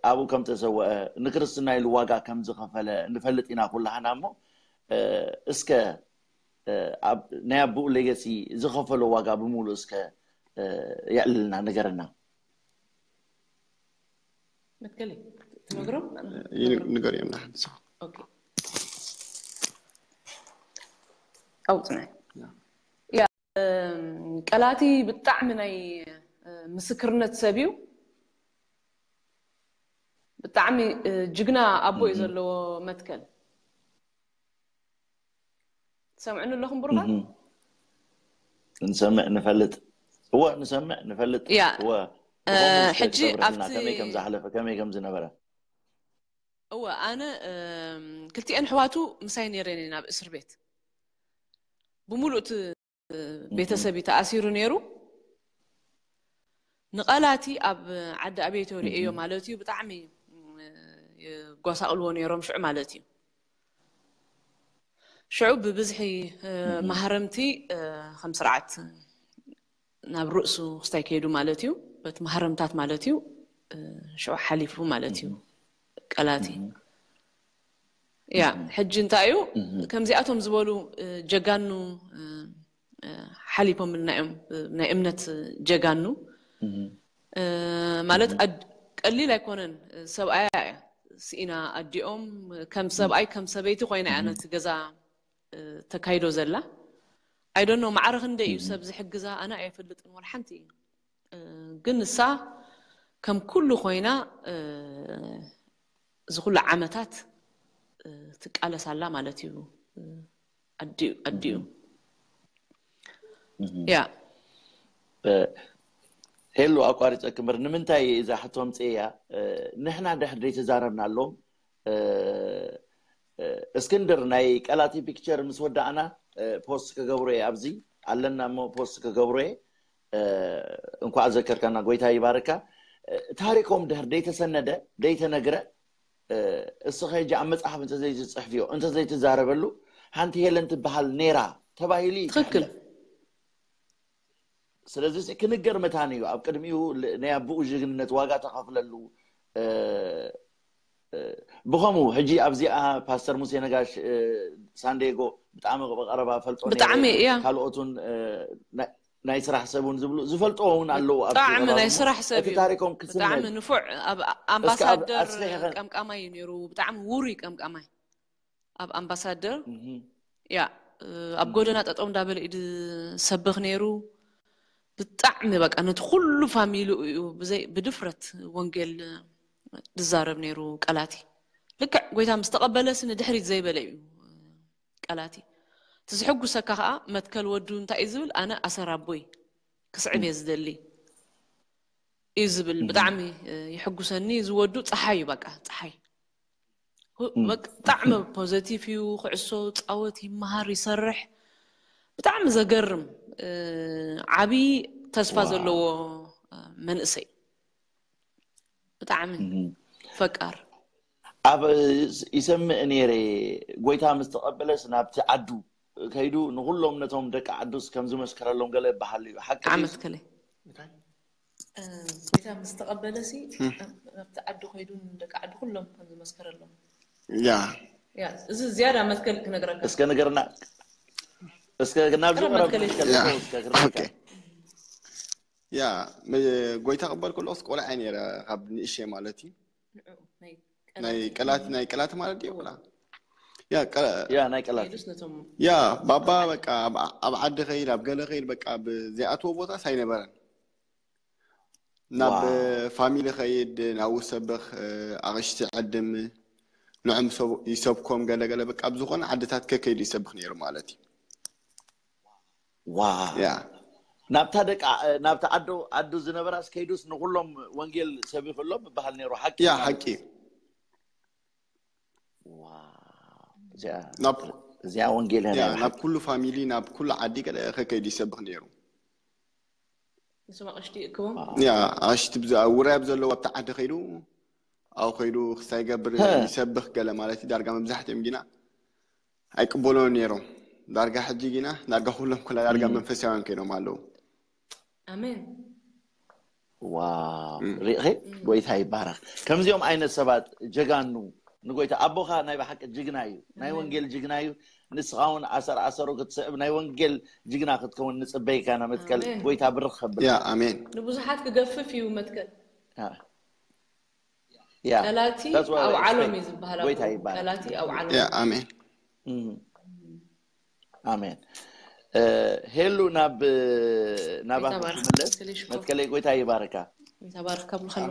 ኣብኡ ከም ተሰወአ ንክርስትና ኢሉ ዋጋ ከም ዝኸፈለ ንፈልጥ ኢና ኩላህና እሞ እ፣ እስከ እ፣ ኣብ ናይ ኣቦኡ ሌገሲ ዝኸፈሎ ዋጋ ብምሉእ እስከ እ፣ የዕልልና ንገረና። መትከለይ ትነግሮም ይን- ንገር እዮም ንሓንሳ ኦኬ። ኣውፅና ያ። ያ እም፣ ቀላቲ ብጣዕሚ ናይ እ፣ ምስክርነት ሰብ እዩ። ብጣዕሚ እ፣ ጅግና ኣቦ እዩ ዘለዎ መትከል። ትሰምዕኒ ኣለኹም ብሩኻት? እህ። ንሰምዕ ንፈልጥ። እወ ንሰምዕ ንፈልጥ። ያ። እወ እ፣ ብኸምኡ እስከ ሕጂ ክተብርህልና ኣብቲ ከመይ ከም ዝሓለፈ ከመይ ከም ዝነበረ። እወ ኣነ እም፣ ክልቲኤን ኣሕዋቱ ምሳይ ነይረን እየን ኣብ እስር ቤት ብምሉእ እቲ ቤተሰብ እዩ ተኣሲሩ ነይሩ። ንቐላቲ ኣብ ዓዲ ኣቤቶ ርእዮ ማለት እዩ ብጣዕሚ እም፣ የጓሳቕልዎ ነይሮም ሽዑ ማለት እዩ። ሽዑ ብብዝሒ እ፣ ማህረምቲ እ፣ ከም ስርዓት ናብ ርእሱ ክስታይ ከይዱ ማለት እዩ። በቲ ማህረምታት ማለት እዩ እ፣ ሽዑ ሓሊፉ ማለት እዩ ቀላቲ። ያ ሕጂ እንታይ እዩ ከምዚኣቶም ዝበሉ እ፣ ጀጋኑ እ፣ እ፣ ሓሊፎምልና እዮም እ፣ ናይ እምነት ጀጋኑ እ፣ ማለት ኣድ- ቀሊል ኣይኮነን። ሰብኣያ እያ ስኢና ኣዲኦም ከም ሰብኣይ ከም ሰበይቲ ኮይና እያ ነቲ ገዛ እ፣ ተካይዶ ዘላ። I don't know ማዕረ ክንደይ እዩ ሰብ ዝሕግዛ ኣነ ኣይፈልጥን ወላ ሓንቲ። እ፣ ግን ንሳ ከም ኩሉ ኮይና እ፣ እዚ ኩሉ ዓመታት እ፣ ትቃለስ ኣላ ማለት እዩ። እ፣ ኣዲኡ ኣዲኡ ያ እ፣ ሄሉ ኣቋሪፀ ክምር ንምንታይ እዛ ሕቶ ኣምፅእያ? እ፣ ንሕና ድሕር ዘይተዛረብናሎም እ፣ እ፣ እስክንድር ናይ ቀላቲ ፒክቸር ምስ ወዳእና እ፣ ፖስት ክገብሮ እየ። ኣብዚ ኣለና እሞ ፖስት ክገብሮ እየ። እ፣ እንኳዕ ዘከርካና፣ ጎይታ ይባርካ። እ፣ ታሪኮም ድሕር ደይተሰነደ ደይተነግረ እ፣ እስኸ ሕጂ ኣብ መፅሓፍ እንተዘይትፅሕፍዮ እንተዘይትዛረበሉ ሓንቲ ሄለን ትበሃል ነይራ ተባሂሉ እዩ ትኽክል። ዝሕለፍ። ስለዚ እዚ ክንገር መታን እዩ። ኣብ ቅድሚኡ ል- ናይ ኣቦኡ ጅግንነት ዋጋ ተኸፍለሉ እ፣ እ፣ ብኸምኡ ሕጂ ኣብዚኣ ፓስተር ሙሴ ነጋሽ እ፣ ሳንዲየጎ ብጣዕሚ ብቐረባ ፈልጦ ነይረ። ብጣዕሚ እያ። ካልኦቱን እ፣ ናይ- ናይ ስራሕ ሰብ እውን ዝብሉ ዝፈልጥዎ እውን ኣለዉ ኣብቲ ብጣዕሚ ከባቢ ናይ እሞ ስራሕ ሰብ እቲ እዩ። ታሪኮም ክስነድ ብጣዕሚ ንፉዕ ኣብ እስከ ኣብ ኣምባሳደር ኣስፊሕኸ ቀምቃማይ እዩ ነይሩ። ብጣዕሚ ውሩይ ቀምቃማይ ኣብ ኣምባሳደር እህ፣ ያ እ፣ ኣብ ጎደና ጠጠው እንዳበለ እዩ ዝሰብኽ ነይሩ። ብጣዕሚ በቃ ነቲ ኩሉ ፋሚሊ እዩ ብዘይ ብድፍረት ወንጌል ዝዛረብ ነይሩ ቀላቲ ልክዕ ጎይታ ምስ ተቐበለሲ ንድሕሪት ዘይበለ እዩ። ቀላቲ እቲ ዝሕጉሰካ ከዓ መትከል ወዱ እንታይ እዩ ዝብል፣ ኣነ ኣሰር ኣቦይ ክስዕብ እየ ዝደሊ እዩ ዝብል። ብጣዕሚ ይሕጉሰኒ። ዝወዱ ፀሓይ እዩ፣ በቃ ፀሓይ። ብጣዕሚ ፖዘቲቭ እዩ። ክዕሶ ፃወት፣ ይመሃር፣ ይሰርሕ። ብጣዕሚ ዘገርም ዓብዪ ተስፋ ዘለዎ መንእሰይ፣ ብጣዕሚ ፈቃር። ኣብ ይሰምዕ ነይረ፣ ጎይታ ምስ ተቐበለስ ናብቲ ዓዱ ከይዱ ንኩሎም ነቶም ደቂ ዓዱስ ከም ዝመስከረሎም ገለ ይበሃል እዩ። ሓቂ ድዩ? ዓመት ከለ ጎይታ ምስ ተቐበለሲ ናብቲ ዓዱ ከይዱ ንደቂ ዓዱ ኩሎም ከም ዝመስከረሎም። ያ ያ፣ እዚ ዝያዳ መትከል ክነግረካ። እስከ ንገርና፣ እስከ ናብዚ ቀረብ ቀረብ መትከል መትከል ያ። እስከ ክርዳካ። ኦኬ። ያ፣ ም- ጎይታ ቅበል ከለኩስ ቆልዓ ነይረ፣ ካብ ንእሽተይ ማለት እዩ። ንዕኡ ናይ ናይ ቀላት ናይ ቀላት ማለት ድዩ ቆልዓ? ያ ቀ- ያ ናይ ቀላት ኢሉስ ነቶም ያ ባባ በቃ ኣብ- ኣብ ዓዲ ከይድ፣ ኣብ ገለ ከይድ፣ በቃ ብዘይኣትዎ ቦታስ ኣይነበረን። ናብ ዋው። ፋሚሊ ከይድ፣ ናብኡ ሰብኽ፣ ኣቕሽቲ ዕድም ንዕም ሰብ- ይሰብኮም፣ ገለ ገለ በቃ ኣብ ዝኾነ ዓድታት ከከይዱ ይሰብኽ ነይሩ ማለት እዩ። ዋው። ያ ናብታ ደቂ ናብታ ዓዶ ዓዱ ዝነበራስ ከይዱስ ንኩሎም ወንጌል ሰቢኽሎም ይበሃል ነይሩ። ሓቂ ያ ማለት ሓቂ እዩ። ዋው። እዚኣ ናብ እዚኣ ወንጌል እያ ያ ናይ ናብ ሓቂ። ኩሉ ፋሚሊ፣ ናብ ኩሉ ዓዲ ገለ ከከይዱ ይሰብኽ ነይሩ። ንሶም ኣቕሽቲ ይእክቦም። ያ ኣሽቲ ብዛ ውራይ ኣብ ዘለዎ ኣብቲ ዓዲ ከይዱ፣ ኣብ ከይዱ ክስታይ ገብር ሀ። ይሰብኽ ገለ ማለት እዩ። ዳርጋ መብዛሕትኦም ግና ኣይቅበሎን ነይሮም። ዳርጋ ሕጂ ግና ዳርጋ ኩሎም ኩላ ዳርጋ መንፈሳውያን ኮይኖም ኣለዉ። ኣሜን። ዋው። ሪእኺ? ጎይታ ይባረክ። ከምዚኦም ዓይነት ሰባት ጀጋኑ ንጎይታ። ኣቦኻ ናይ ብሓቂ ጅግና እዩ፣ ናይ ወንጌል ጅግና እዩ። ንስኻ እውን ኣሰር ኣሰሩ ክትስዕብ ናይ ወንጌል ጅግና ክትከውን ንጽበይካ ኢና። መትከል ኣሜን። ጎይታ ብርኽ ከብል። ያ ኣሜን። ንብዙሓት ክገፍፍ እዩ መትከል። ያ። ያ። ቀላቲ That's what I ኣውዓሎም expect። እዩ ዝበሃል። ጎይታ ኣቦ። ይባረክ። ቀላቲ ኣውዓሎም። ያ ኣሜን። እም። ኣሜን። እ፣ ሄሉ ናብ ናባኺ ይባርክ። ክምለስ። ስልሽ ኮ። መትከለይ ጎይታ ይባርካ። ይተባረክ ካብ ምዃን።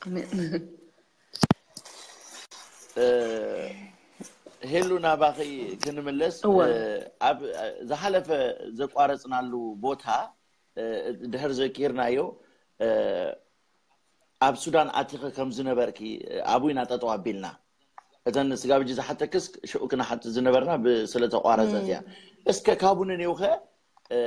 ኣሜን። እ፣ ሄሉ ናባኺ ክንምለስ። እወ። እ፣ ኣብ ዝሓለፈ ዘቋረጽናሉ ቦታ እ፣ ድሕር ዘኪርናዮ እ፣ ኣብ ሱዳን ኣቲኸ ከም ዝነበርኪ እ፣ ኣብኡ ኢና ጠጠው ኣቢልና። እተን ስጋብ ሕጂ ዝሓተክስ ሽዑ ክንሓት ዝነበርና ብ- ስለ ተቋረጸት እያ። እስከ ካብኡ ንኔውኸ እ፣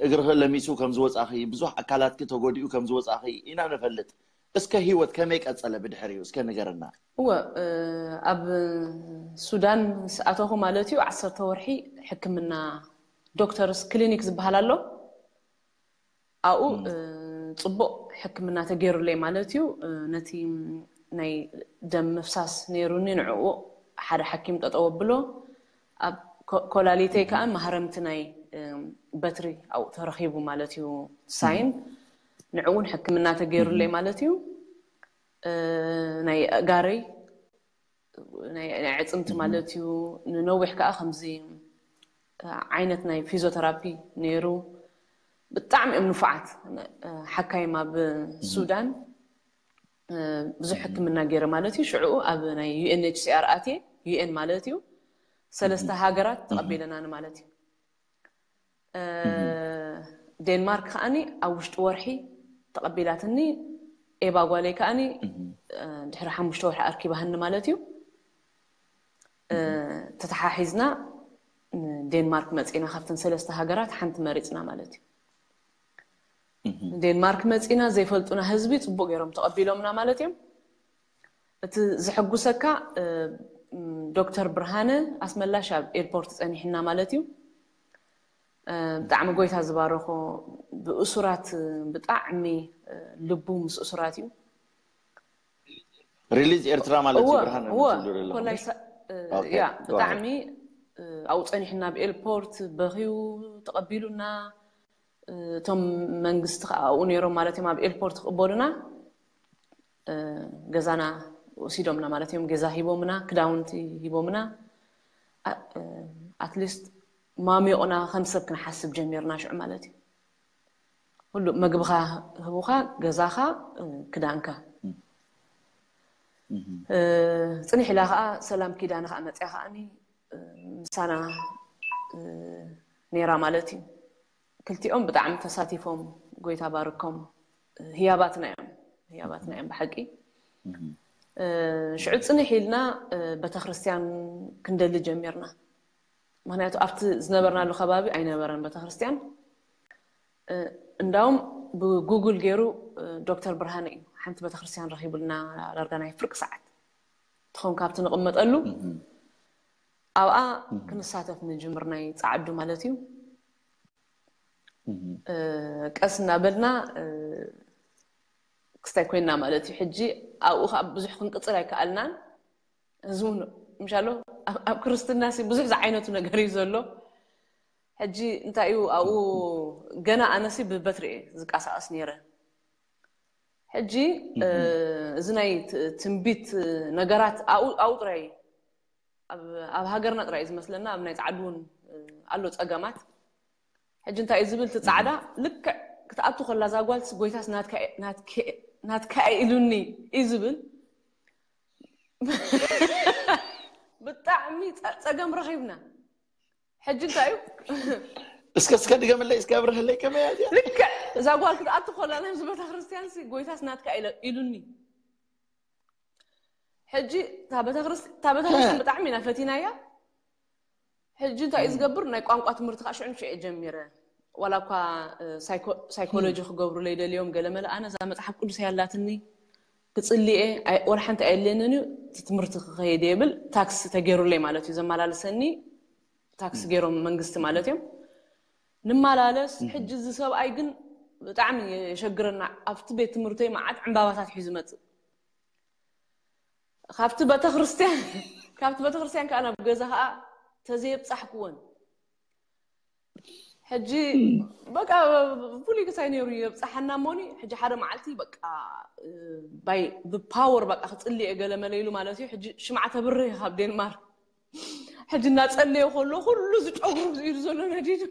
እግርኸ ለሚሱ ከም ዝወጻኺ፣ ብዙሕ ኣካላትኪ ተጎዲኡ ከም ዝወጻኺ ኢና ንፈልጥ። እስከ ህይወት ከመይ ቀጸለ ብድሕሪኡ እስከ ንገርና። እወ እ፣ ኣብ ሱዳን ምስ ኣተኹ ማለት እዩ ዓሰርተ ወርሒ ሕክምና ዶክተርስ ክሊኒክ ዝበሃል ኣሎ። ኣብኡ እ፣ ጽቡቕ ሕክምና ተገይሩለይ ማለት እዩ። እ፣ ነቲ ናይ ደም ምፍሳስ ነይሩኒ፣ ንዕኡ ሓደ ሓኪም ጠጠው ኣብሎ። ኣብ ኮ- ኮላሊተይ ከዓ ማህረምቲ ናይ እ፣ በትሪ ኣብኡ ተረኺቡ ማለት እዩ። ሳይን ንዕኡ እውን ሕክምና ተገይሩለይ ማለት እዩ። እ፣ ናይ ኣእጋረይ ናይ ናይ ኣዕፅምቲ ማለት እዩ። ንነዊሕ ከዓ ከምዚ ዓይነት ናይ ፊዚዮተራፒ ነይሩ። ብጣዕሚ እዮም ንፉዓት ሓካይም ኣብ ሱዳን። ብዙሕ ሕክምና ገይረ ማለት እዩ። ሽዕኡ ኣብ ናይ ዩ ኤን ኤች ሲ ኣር ኣትየ፣ ዩ ኤን ማለት እዩ፣ ሰለስተ ሃገራት ተቐቢለናኒ ማለት እዩ። ዴንማርክ ከዓኒ ኣብ ውሽጢ ወርሒ ተቐቢላትኒ። ኤባ ጓለይ ከዓኒ ድሕሪ ሓሙሽተ ወርሒ ኣርኪባህኒ ማለት እዩ። ተተሓሒዝና ንዴንማርክ መፂና፣ ካብተን ሰለስተ ሃገራት ሓንቲ መሪፅና ማለት እዩ። ንዴንማርክ መፂና፣ ዘይፈልጡና ህዝቢ ፅቡቅ ገይሮም ተቐቢሎምና ማለት እዮም። እቲ ዝሕጉሰካ ዶክተር ብርሃነ ኣስመላሽ ኣብ ኤርፖርት ፀኒሕና ማለት እዩ። ብጣዕሚ ጎይታ ዝባረኮ፣ ብእሱራት ብጣዕሚ ልቡ ምስ እሱራት እዩ። ሪሊዝ ኤርትራ ማለት እዩ። ብርሃነ እወ ትብሉ ዘለኹም። ኮላይ ሳ- እ፣ ኦኬ፣ ያ go ብጣዕሚ እ፣ ኣብኡ ፀኒሕና፣ ኣብ ኤርፖርት በኺዩ ተቐቢሉና። እ፣ እቶም መንግስቲ ከዓ ኣብኡ ነይሮም ማለት እዮም፣ ኣብ ኤርፖርት ክቕበሉና እ፣ ገዛና ወሲዶምና ማለት እዮም። ገዛ ሂቦምና፣ ክዳውንቲ ሂቦምና። ኣ- እ፣ ኣትሊስት ማሚቑና ከም ሰብ ክንሓስብ ጀሚርና ሽዑ ማለት እዩ። ኩሉ መግብኻ ህቡኻ፣ ገዛኻ፣ እ፣ ክዳንካ። ጽንሕ ኢላ ከዓ ሰላም ኪዳነ ከዓ መፅያ ከዓኒ ምሳና ነይራ ማለት እዩ። ክልቲኦም ብጣዕሚ ተሳቲፎም፣ ጎይታ ባርኮም፣ ህያባትና እዮም፣ ህያባትና እዮም ብሓቂ። ሽዑ ፅንሕ ኢልና ቤተክርስትያን ክንደሊ ጀሚርና። ምክንያቱ ኣብቲ ዝነበርናሉ ከባቢ ኣይነበረን ቤተክርስትያን። እንዳውም ብጉግል ገይሩ ዶክተር ብርሃነ እዩ ሓንቲ ቤተክርስትያን ረኪቡልና፣ ዳርጋ ናይ ፍርቂ ሰዓት ትኾን ካብቲ ንቕመጠሉ ኣብኣ ክንሳተፍ ንጅምር፣ ናይ ፃዓዱ ማለት እዩ። ቀስ እናበልና ክስታይ ኮይና ማለት እዩ። ሕጂ ኣብኡ ከዓ ብዙሕ ክንቅፅል ኣይከኣልናን። እዚ እውን ምሻሎ ኣብ ክርስትና ብዙሕ ዝዓይነቱ ነገር እዩ ዘሎ። ሕጂ እንታይ እዩ ኣብኡ፣ ገና ኣነሲ ብበትሪ እየ ዝቃሳቀስ ነይረ። ሕጂ እዚ ናይ ትንቢት ነገራት ኣብኡ ጥራይ፣ ኣብ ሃገርና ጥራይ እዩ ዝመስለና፣ ኣብ ናይ ፃዕዱ እውን ኣሎ ፀገማት። ሕጂ እንታይ እዩ ዝብል እቲ ፃዕዳ፣ ልክዕ ክትኣቱ ከላ እዛ ጓልስ ጎይታስ ናትካ ኢሉኒ እዩ ዝብል። ብጣዕሚ ፀገም ረኺብና። ሕጂ እንታይ እዩ? እስከ እስከ ድገምለይ፣ እስከ ኣብርህለይ፣ ከመይ እያ እዚኣ? ልክዕ እዛ ጓል ክትኣቱ ከላ ናብዚ ቤተክርስትያን ሲ ጎይታስ ናትካ ኢሉኒ። ሕጂ እታ ቤተክርስትያን ብጣዕሚ ኢና ፈቲናያ። ሕጂ እንታይ እዩ ዝገብር? ናይ ቋንቋ ትምህርቲ ከዓ ሽዑ ንሽዑ ጀሚረ። ዋላ እኳ ሳይኮሎጂ ክገብሩለይ ደልዮም ገለመለ፣ ኣነ እዛ መፅሓፍ ቅዱስ ያላትኒ ክፅልየ ወላ ሓንቲ ኣየድልየንን እዩ፣ ትምህርቲ ክኸይድ የብል። ታክሲ ተገይሩለይ ማለት እዩ፣ ዘመላለሰኒ ታክሲ ገይሮም መንግስቲ ማለት እዮም። ንመላለስ። ሕጂ እዚ ሰብኣይ ግን ብጣዕሚ የሸግረና። ኣብቲ ቤት ትምህርተይ መዓት ዕምባባታት ሒዙ መፅእ። ካብቲ ቤተክርስትያን ካብቲ ቤተክርስትያን ከዓ ናብ ገዛ ከዓ ተዘየብፃሕክወን። ሕጂ በቃ ፍሉይ ክሳይ ነይሩ የብፃሓና እሞኒ። ሕጂ ሓደ መዓልቲ በቃ ብፓወር በቃ ክፅሊ እየ ገለ መለ ኢሉ ማለት እዩ። ሕጂ ሽምዓ ተብርህ ካብ ዴንማርክ። ሕጂ እናፀለየ ከሎ ኩሉ ዝጨጉሩ ኢሉ ዘሎ ነዲዱ።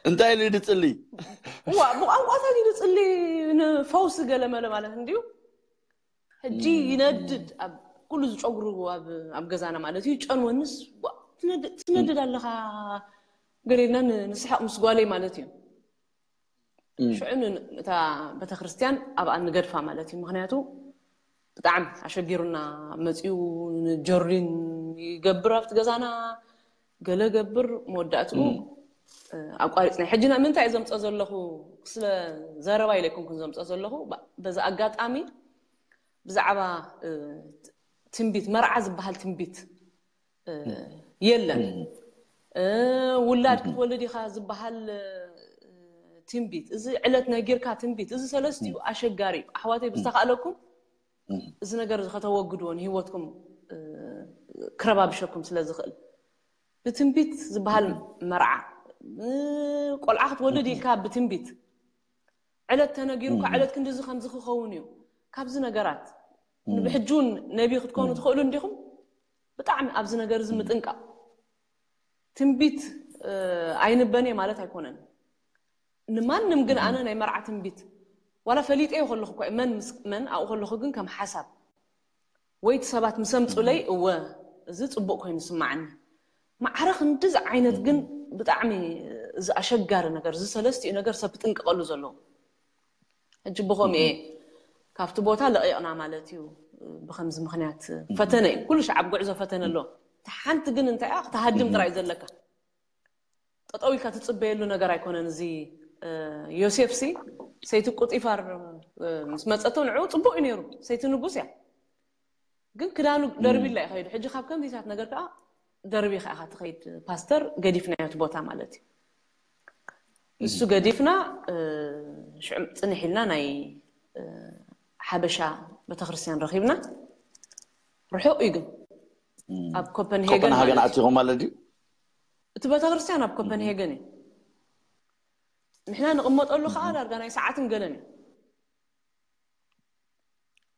እንታይ ኢሉ ድፅሊ? ዋ ብቋንቋታት ኢሉ ፅሊ፣ ንፈውሲ ገለ መለ ማለት እንድዩ። ሕጂ ይነድድ ኣብ ኩሉ ዝጨጉሩ ኣብ ገዛና ማለት እዩ። ጨንወንስ ትነድድ ኣለኻ ገሌልና ንስሓቕ ምስ ጓለይ ማለት እዩ። ሽዑ እታ ቤተክርስትያን ኣብኣ ንገድፋ ማለት እዩ። ምክንያቱ ብጣዕሚ ኣሸጊሩና መፅኡ። ንጆርዲን ይገብር ኣብቲ ገዛና ገለ ገብር፣ መወዳእትኡ ኣቋሪፅና። ሕጂ ምንታይ እየ ዘምፀ ዘለኹ? ስለ ዘረባ ኢለ ኣይኮንኩን ዘምፀ ዘለኹ። በዚ ኣጋጣሚ ብዛዕባ ትንቢት፣ መርዓ ዝበሃል ትንቢት የለን። ውላድ ክትወልድ ኢኻ ዝበሃል ትንቢት፣ እዚ ዕለት ነጊርካ ትንቢት፣ እዚ ሰለስቲኡ ኣሸጋሪ እዩ። ኣሕዋተይ ብዝተኻእለኩም እዚ ነገር እዚ ከተወግድዎ፣ ንህይወትኩም ክረባብሸኩም ስለ ዝኽእል። ብትንቢት ዝበሃል መርዓ፣ ቆልዓ ክትወልድ ኢልካ ብትንቢት ዕለት ተነጊሩካ፣ ዕለት ክንድዚ ከምዚ ክኸውን እዩ። ካብዚ ነገራት ብሕጂ እውን ነቢ ክትኮኑ ትኽእሉ እንዲኹም። ብጣዕሚ ኣብዚ ነገር እዚ ምጥንቃቕ። ትንቢት ኣይንበን እየ ማለት ኣይኮነን። ንማንም ግን ኣነ ናይ መርዓ ትንቢት ዋላ ፈሊጠዮ ከለኹ እኮ መን ምስ መን ኣብኡ ከለኹ ግን ከም ሓሳብ ወይ እቲ ሰባት ምስ ኣምፁለይ እወ እዚ ፅቡቅ ኮይኑ ስማዓኒ። ማዕረ ክንድዚ ዓይነት ግን ብጣዕሚ እዚ ኣሸጋሪ ነገር፣ እዚ ሰለስቲኡ ነገር ሰብ ክጥንቀቐሉ ዘለዎ። ሕጂ ብኸምኡ እየ ካብቲ ቦታ ለቒቕና ማለት እዩ። ብኸምዚ ምኽንያት ፈተነ እዩ። ኩሉ ሻዕ ኣብ ጉዕዞ ፈተነ ኣሎ። እቲ ሓንቲ ግን እንታይ እያ? ክትሃድም ጥራይ ዘለካ። ጠጠው ኢልካ ትፅበየሉ ነገር ኣይኮነን። እዚ ዮሴፍ ሲ ሰይቲ ቁጢፋር ምስ መፀቶ ንዕኡ ፅቡቅ እዩ ነይሩ። ሰይቲ ንጉስ እያ። ግን ክዳኑ ደርቢላ እዩ ከይዱ። ሕጂ ካብ ከምዚታት ነገር ከዓ ደርቢ ከዓ ትኸይድ። ፓስተር ገዲፍናዮ እቲ ቦታ ማለት እዩ። እሱ ገዲፍና ሽዑ ፅንሕ ኢልና ናይ ሓበሻ ቤተክርስትያን ረኺብና። ርሑቕ እዩ ግን ኣብ ኮፐንሄገን ኮፐንሃገን ኣቲኹም ማለት ድዩ? እቲ ቤተክርስትያን ኣብ ኮፐንሄገን እዩ። ንሕና ንቕመጠሉ ከዓ ዳርጋ ናይ ሰዓትን ገለን እዩ።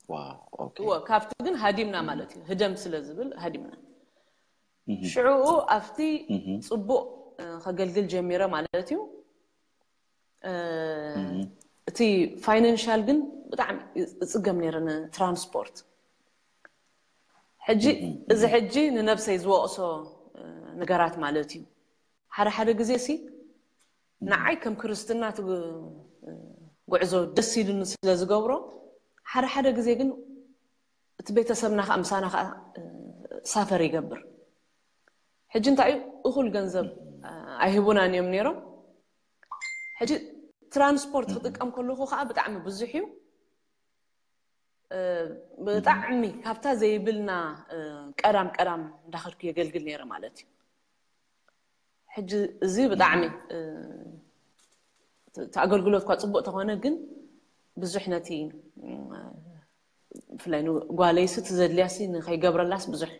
ዋው፣ ኦኬ። እወ፣ ካብቲ ግን ሃዲምና ማለት እዩ። ህደም ስለ ዝብል ሃዲምና። ሽዑኡ ኣብቲ ፅቡቕ ከገልግል ጀሚረ ማለት እዩ። እቲ ፋይናንሻል ግን ብጣዕሚ እፅገም ነይረ ንትራንስፖርት። ሕጂ እዚ ሕጂ ንነብሰይ ዝወቕሶ ነገራት ማለት እዩ። ሓደ ሓደ ግዜ ሲ ንዓይ ከም ክርስትና እቲ ጉዕዞ ደስ ኢሉኒ ስለ ዝገብሮ፣ ሓደ ሓደ ግዜ ግን እቲ ቤተሰብና ከዓ ምሳና ከዓ ሳፈር ይገብር። ሕጂ እንታይ እዩ፣ እኹል ገንዘብ ኣይህቡናን እዮም ነይሮም። ሕጂ ትራንስፖርት ክጥቀም ከለኹ ከዓ ብጣዕሚ ብዙሕ እዩ። ብጣዕሚ ካብታ ዘይብልና ቀዳም ቀዳም እንዳኸድኩ የገልግል ነይረ ማለት እዩ። ሕጂ እዚ ብጣዕሚ እቲ ኣገልግሎት እኳ ፅቡቅ ተኾነ፣ ግን ብዙሕ ነቲ ብፍላይ ንጓለይሲ እቲ ዘድልያሲ ንኸይገብረላስ ብዙሕ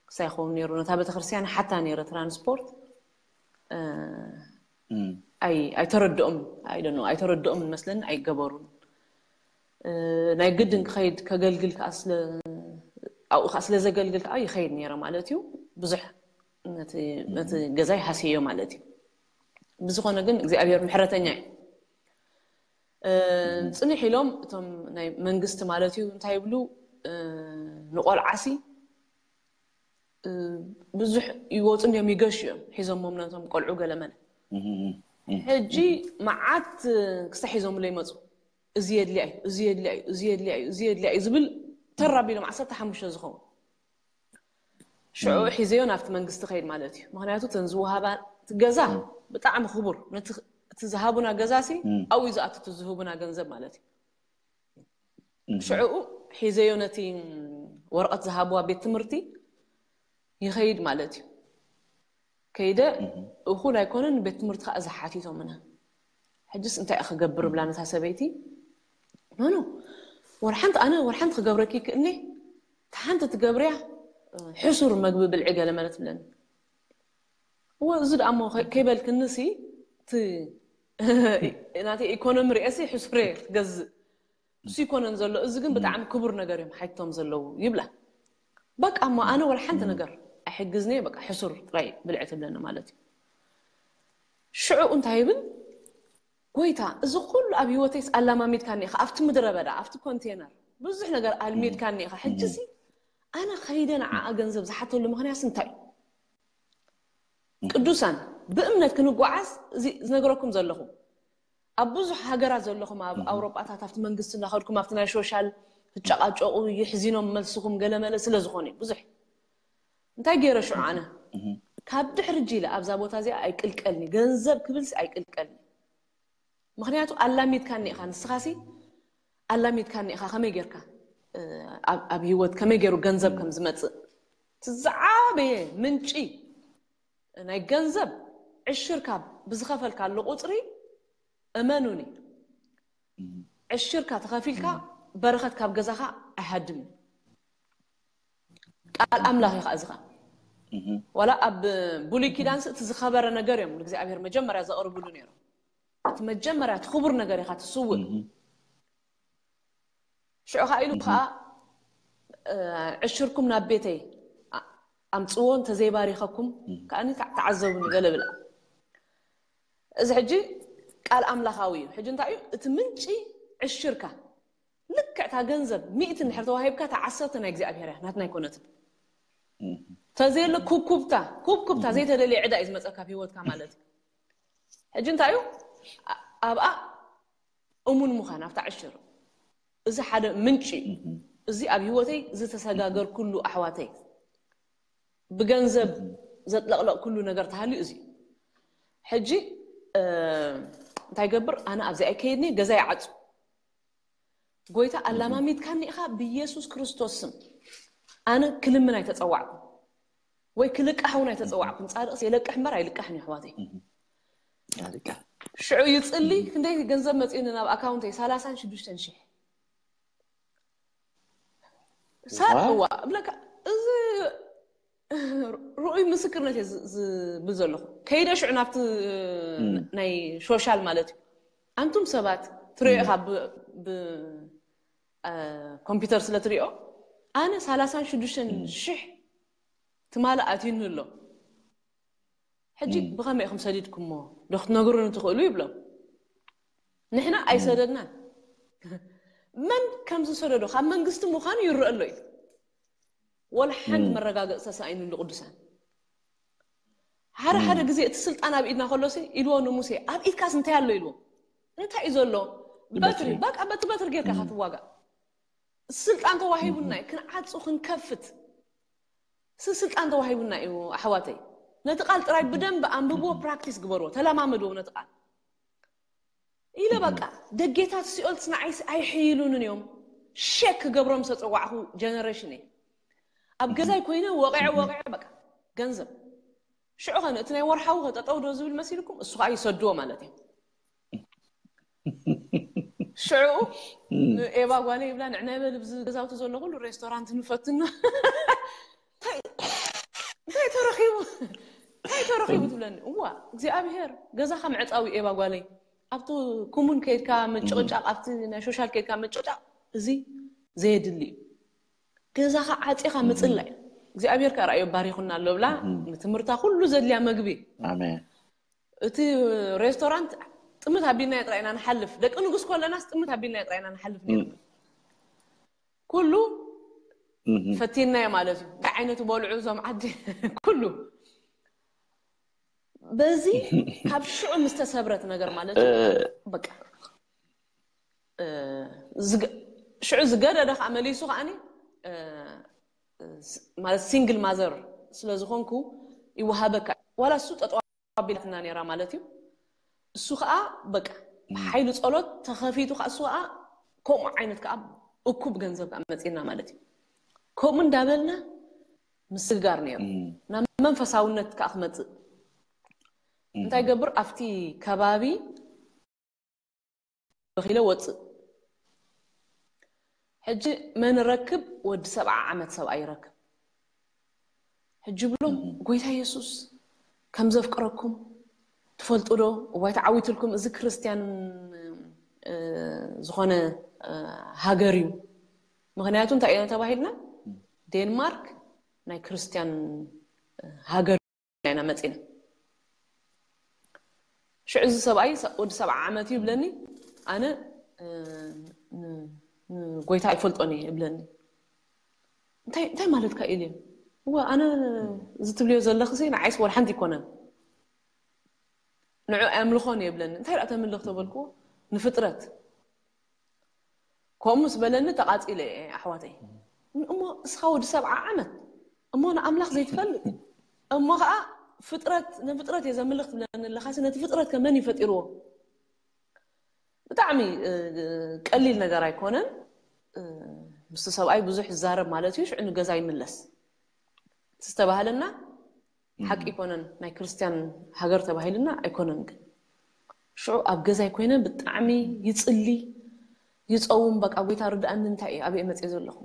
ክሳይ ይኸውን ነይሩ። ነታ ቤተክርስትያን ሓታ ነይረ ትራንስፖርት ኣይተረድኦም ኣይደኖ ኣይተረድኦም መስለኒ ኣይገበሩን። ናይ ግድን ክኸይድ ከገልግል ከዓ ስለ ኣብኡ ከዓ ስለ ዘገልግል ከዓ ይኸይድ ነይረ ማለት እዩ። ብዙሕ ነቲ ገዛይ ሃስዮ ማለት እዩ። ብዝኾነ ግን እግዚኣብሔር ምሕረተኛ እዩ። ፅንሕ ኢሎም እቶም ናይ መንግስቲ ማለት እዩ እንታይ ይብሉ፣ ንቆልዓሲ ብዙሕ ይወፁ እንዲዮም ይገሹ እዮም ሒዞሞም ነቶም ቆልዑ ገለመለ። ሕጂ መዓት ክስታ ሒዞምሎ ይመፁ። እዚ የድልያ እዩ፣ እዚ የድልያ እዩ፣ እዚ የድልያ እዩ፣ እዚ የድልያ እዩ ዝብል ተራቢሎም ዓሰርተ ሓሙሽተ ዝኸውን ሽዑ ሒዘዮ ናብቲ መንግስቲ ከይድ ማለት እዩ። ምክንያቱ እተን ዝወሃባ እቲ ገዛ ብጣዕሚ ክቡር፣ ነቲ እቲ ዝሃቡና ገዛ ሲ ኣብኡ እዩ ዝኣቱ እቲ ዝህቡና ገንዘብ ማለት እዩ። ሽዑኡ ሒዘዮ ነቲ ወረቐት ዝሃብዋ ቤት ትምህርቲ ይኸይድ ማለት እዩ። ከይደ እኹል ኣይኮነን፣ ቤት ትምህርቲ ከዓ ዝሓቲቶምና። ሕጅስ እንታይ ክገብር ብላ ነታ ሰበይቲ፣ ኖኖ ወላ ሓንቲ ኣነ ወላ ሓንቲ ክገብረኪ ይክእልኒ፣ ሓንቲ ትገብርያ ሕሱር መግቢ ብልዒ ገለ መለ ትብለኒ። እወ እዚ ደኣ እሞ ከይበልክንሲ እቲ ናተይ ኢኮኖሚ ርእየሲ ሕሱር እየ ክገዝእ። እሱ ይኮነን ዘሎ፣ እዚ ግን ብጣዕሚ ክቡር ነገር እዮም ሓይቶም ዘለዉ ይብላ። በቃ እሞ ኣነ ወላ ሓንቲ ነገር ኣይሕግዝኒ፣ በቃ ሕሱር ጥራይ ብልዒ ትብለኒ ማለት እዩ። ሽዑ እንታይ ይብል፣ ጎይታ፣ እዚ ኩሉ ኣብ ህይወተይስ ኣላማሚድካኒ ኢኻ፣ ኣብቲ ምድረ በዳ፣ ኣብቲ ኮንቴነር ብዙሕ ነገር ኣልሚድካኒ ኢኻ። ሕጂሲ ኣነ ከይደ ንዓኣ ገንዘብ ዝሓተሉ ምኽንያትስ እንታይ እዩ? ቅዱሳን ብእምነት ክንጓዓዝ እዚ ዝነግረኩም ዘለኹ ኣብ ብዙሕ ሃገራት ዘለኹም ኣብ ኣውሮጳታት ኣብቲ መንግስቲ እናኸድኩም ኣብቲ ናይ ሾሻል ትጨቃጨቁ ይሕዚኖም መልስኹም ገለመለ ስለ ዝኾነ ብዙሕ እንታይ ገይረ ሽዑ ኣነ ካብ ድሕሪ ጂለ ኣብዛ ቦታ እዚኣ ኣይቅልቀልኒ ገንዘብ ክብልሲ ኣይቅልቀልኒ ምክንያቱ ኣላሚድካኒ ኢኻ ንስኻሲ ኣላሚድካኒ ኢኻ ከመይ ጌርካ ኣብ ህይወት ከመይ ገይሩ ገንዘብ ከም ዝመፅእ እቲ ዝዓበየ ምንጪ ናይ ገንዘብ ዕሽርካ ብዝኸፈልካሉ ቁፅሪ እመኑኒ ዕሽርካ ተኸፊልካ በረኸት ካብ ገዛኻ ኣይሃድምን ቃል ኣምላኽ እዩ ከዓ እዚ ከዓ ዋላ ኣብ ብሉይ ኪዳንስ እቲ ዝኸበረ ነገር እዮም ንእግዚኣብሔር መጀመርያ ዘቕርብሉ ነይሮም እቲ መጀመርያ እቲ ክቡር ነገር ኢኻ ትስውእ ሽዑ ከዓ ኢሉ ከዓ ዕሽርኩም ናብ ቤተይ ኣምፅዎ እንተዘይባሪኸኩም ከዓ ተዓዘቡኒ ገለ ብላ እዚ ሕጂ ቃል ኣምላኻዊ እዩ ሕጂ እንታይ እዩ እቲ ምንጪ ዕሽርካ ልክዕታ ገንዘብ ሚእቲ እንድሕር ተዋሂብካ እታ ዓሰርተ ናይ እግዚኣብሔር እያ ናትና ኣይኮነትን ተዘየለ ኩብኩብታ ኩብኩብታ ዘይተደልየ ዕዳ እዩ ዝመፀካ ኣብ ህይወትካ ማለት እዩ ሕጂ እንታይ እዩ ኣብኣ እሙን ምዃን ኣብታ ዕሽር እዚ ሓደ ምንጪ እዩ እዚ ኣብ ህይወተይ ዝተሰጋገር ኩሉ ኣሕዋተይ ብገንዘብ ዘጥለቕለቕ ኩሉ ነገር ተሃልዩ እዚ ሕጂ እንታይ ገብር ኣነ ኣብዚ ኣይከይድኒ ገዛ ይዓፁ ጎይታ ኣላማሚትካኒ ኢኻ ብኢየሱስ ክርስቶስ ስም ኣነ ክልምን ኣይተፀዋዕኩ ወይ ክልቃሕ እውን ኣይተፀዋዕኩን ፃድቅስ የለቅሕ እምበር ኣይልቃሕን እዩ ኣሕዋተይ ሽዑ ይፅሊ ክንደይ ገንዘብ መፂኡኒ ናብ ኣካውንተይ ሰላሳን ሽዱሽተን ሽሕ ሳዋ እብለካ እዚ ርኡይ ምስክርነት እየ ዝብል ዘለኹ ከይደ ሽዑ ናብቲ ናይ ሾሻል ማለት እዩ ኣንቱም ሰባት ትሪኦ ኢኻ ብኮምፒውተር ስለ ትሪኦ ኣነ ሰላሳን ሽዱሽተን ሽሕ ትማሊ ኣትዩኒ ኣሎ ሕጂ ብኸመይ ኢኹም ሰዲድኩሞ ዶ ክትነግሩኒ ትኽእሉ ይብሎም ንሕና ኣይሰደድናን መን ከም ዝሰደዶ ካብ መንግስቲ ምዃኑ ይረአ ኣሎ እዩ። ወላ ሓንቲ መረጋገፂ ተሳኢኑሉ ቅዱሳን። ሓደ ሓደ ግዜ እቲ ስልጣን ኣብ ኢድና ከሎሲ ኢልዎ ንሙሴ፣ ኣብ ኢድካስ እንታይ ኣሎ ኢልዎ። እንታይ እዩ ዘሎ? በትሪ። በቃ በቲ በትሪ ጌርካ ኢኻ ትዋጋእ። ስልጣን ተዋሂቡና እዩ፣ ክንዓጹ ክንከፍት። ስ ስልጣን ተዋሂቡና እዩ ኣሕዋተይ። ነቲ ቃል ጥራይ ብደንብ ኣንብብዎ፣ ፕራክቲስ ግበርዎ፣ ተለማመድዎ ነቲ ቃል። ኢለ በቃ ደጌታት ሲኦልስ ንዓይስ ኣይሕይሉንን እዮም። ሸክ ክገብሮም ዝተጸዋዕኹ ጀነሬሽን እየ። ኣብ ገዛይ ኮይነ ወቂዐ ወቂዐ በቃ ገንዘብ ሽዑ ኸነ እቲ ናይ ወርሓዊ ከጠጠው ዶ ዝብል መሲልኩም እሱ ከዓ ይሰድዎ ማለት እዩ። ሽዑ ኤባ ጓለ ይብላ ንዕና ይበል ብዚ ገዛውቲ ዘሎ ኩሉ ሬስቶራንት ንፈትና። እንታይ እንታይ ተረኺቡ እንታይ ተረኺቡ ትብለኒ። እዋ እግዚኣብሔር ገዛኻ ምዕፃዊ ኤባ ጓለይ ኣብቲ ኩሙን ከይድካ ምጭቕጫቕ ኣብቲ ናይ ሾሻል ከይድካ ምጭቕጫቕ እዚ ዘየድሊ እዩ። ገዛኻ ዓፂኻ ምፅላይ እግዚኣብሔር ከ ራእዮ ባሪኹና ኣሎ ብላ ንትምህርታ ኩሉ ዘድልያ መግቢ ኣሜን። እቲ ሬስቶራንት ጥምት ኣቢልናዮ ጥራይ ኢና ንሓልፍ። ደቂ ንጉስ ከለናስ ጥምት ኣቢልናዮ ጥራይ ኢና ንሓልፍ ነይርና። ኩሉ ፈቲናዮ ማለት እዩ። እንታይ ዓይነት በልዑ እዞም ዓዲ ኩሉ በዚ ካብ ሽዑ ምስ ተሰብረት ነገር ማለት እዩ። በቃ ሽዑ ዝገደደ ከዓ መሊሱ ከዓኒ ማለት ሲንግል ማዘር ስለ ዝኾንኩ ይወሃበካ ዋላ እሱ ጠጠው ኣቢላትና ነይራ ማለት እዩ። እሱ ከዓ በቃ ሓይሊ ጸሎት ተኸፊቱ ከዓ እሱ ከዓ ከምኡ ዓይነት ከዓ እኩብ ገንዘብ ከዓ መፂና ማለት እዩ። ከምኡ እንዳበልና ምስግጋር ነይሩ ናብ መንፈሳውነት ከዓ ክመፅእ እንታይ ገብር ኣብቲ ከባቢ በኺለ ወፅእ። ሕጂ መን ረክብ ወዲ ሰብዓ ዓመት ሰብኣይ ይረክብ። ሕጂ ብሎም ጎይታ የሱስ ከም ዘፍቅረኩም ትፈልጡ ዶ? እዋይ ተዓዊትልኩም፣ እዚ ክርስትያን ዝኾነ ሃገር እዩ። ምክንያቱ እንታይ ኢና ተባሂልና? ዴንማርክ ናይ ክርስትያን ሃገር ኢና መፂና። ሽዑ እዚ ሰብኣይ ወዲ ሰብዓ ዓመት እዩ ይብለኒ። ኣነ ንጎይታ ኣይፈልጦን እየ ይብለኒ። እንታይ ማለትካ ኢልዮ? እወ ኣነ እዚ ትብልዮ ዘለኽሲ ንዓይስ ወላ ሓንቲ ኣይኮነን፣ ንዑ ኣምልኾን እየ ይብለኒ። እንታይ ደኣ ተምልኽ ተበልክዎ? ንፍጥረት። ከምኡ ምስ በለኒ ተቓፂለ እየ ኣሕዋተይ። እሞ እስኻ ወዲ ሰብዓ ዓመት እሞ ንኣምላኽ ዘይትፈልጥ እሞ ከዓ ፍጥረት ንፍጥረት እየ ዘምልኽ ትብለኒ ኣለኻሲ ነቲ ፍጥረት ከ መን እዩ ፈጢርዎ? ብጣዕሚ ቀሊል ነገር ኣይኮነን። ምስቲ ሰብኣይ ብዙሕ ይዛረብ ማለት እዩ። ሽዑ ንገዛ ይምለስ ዝተባህለና ሓቂ ይኮነን። ናይ ክርስትያን ሃገር ተባሂልና ኣይኮነን ግን ሽዑ ኣብ ገዛይ ኮይነ ብጣዕሚ ይፅሊ ይፀውም። በቃ ጎይታ ርድኣኒ እንታይ እዩ ኣበይ መፅየ ዘለኹ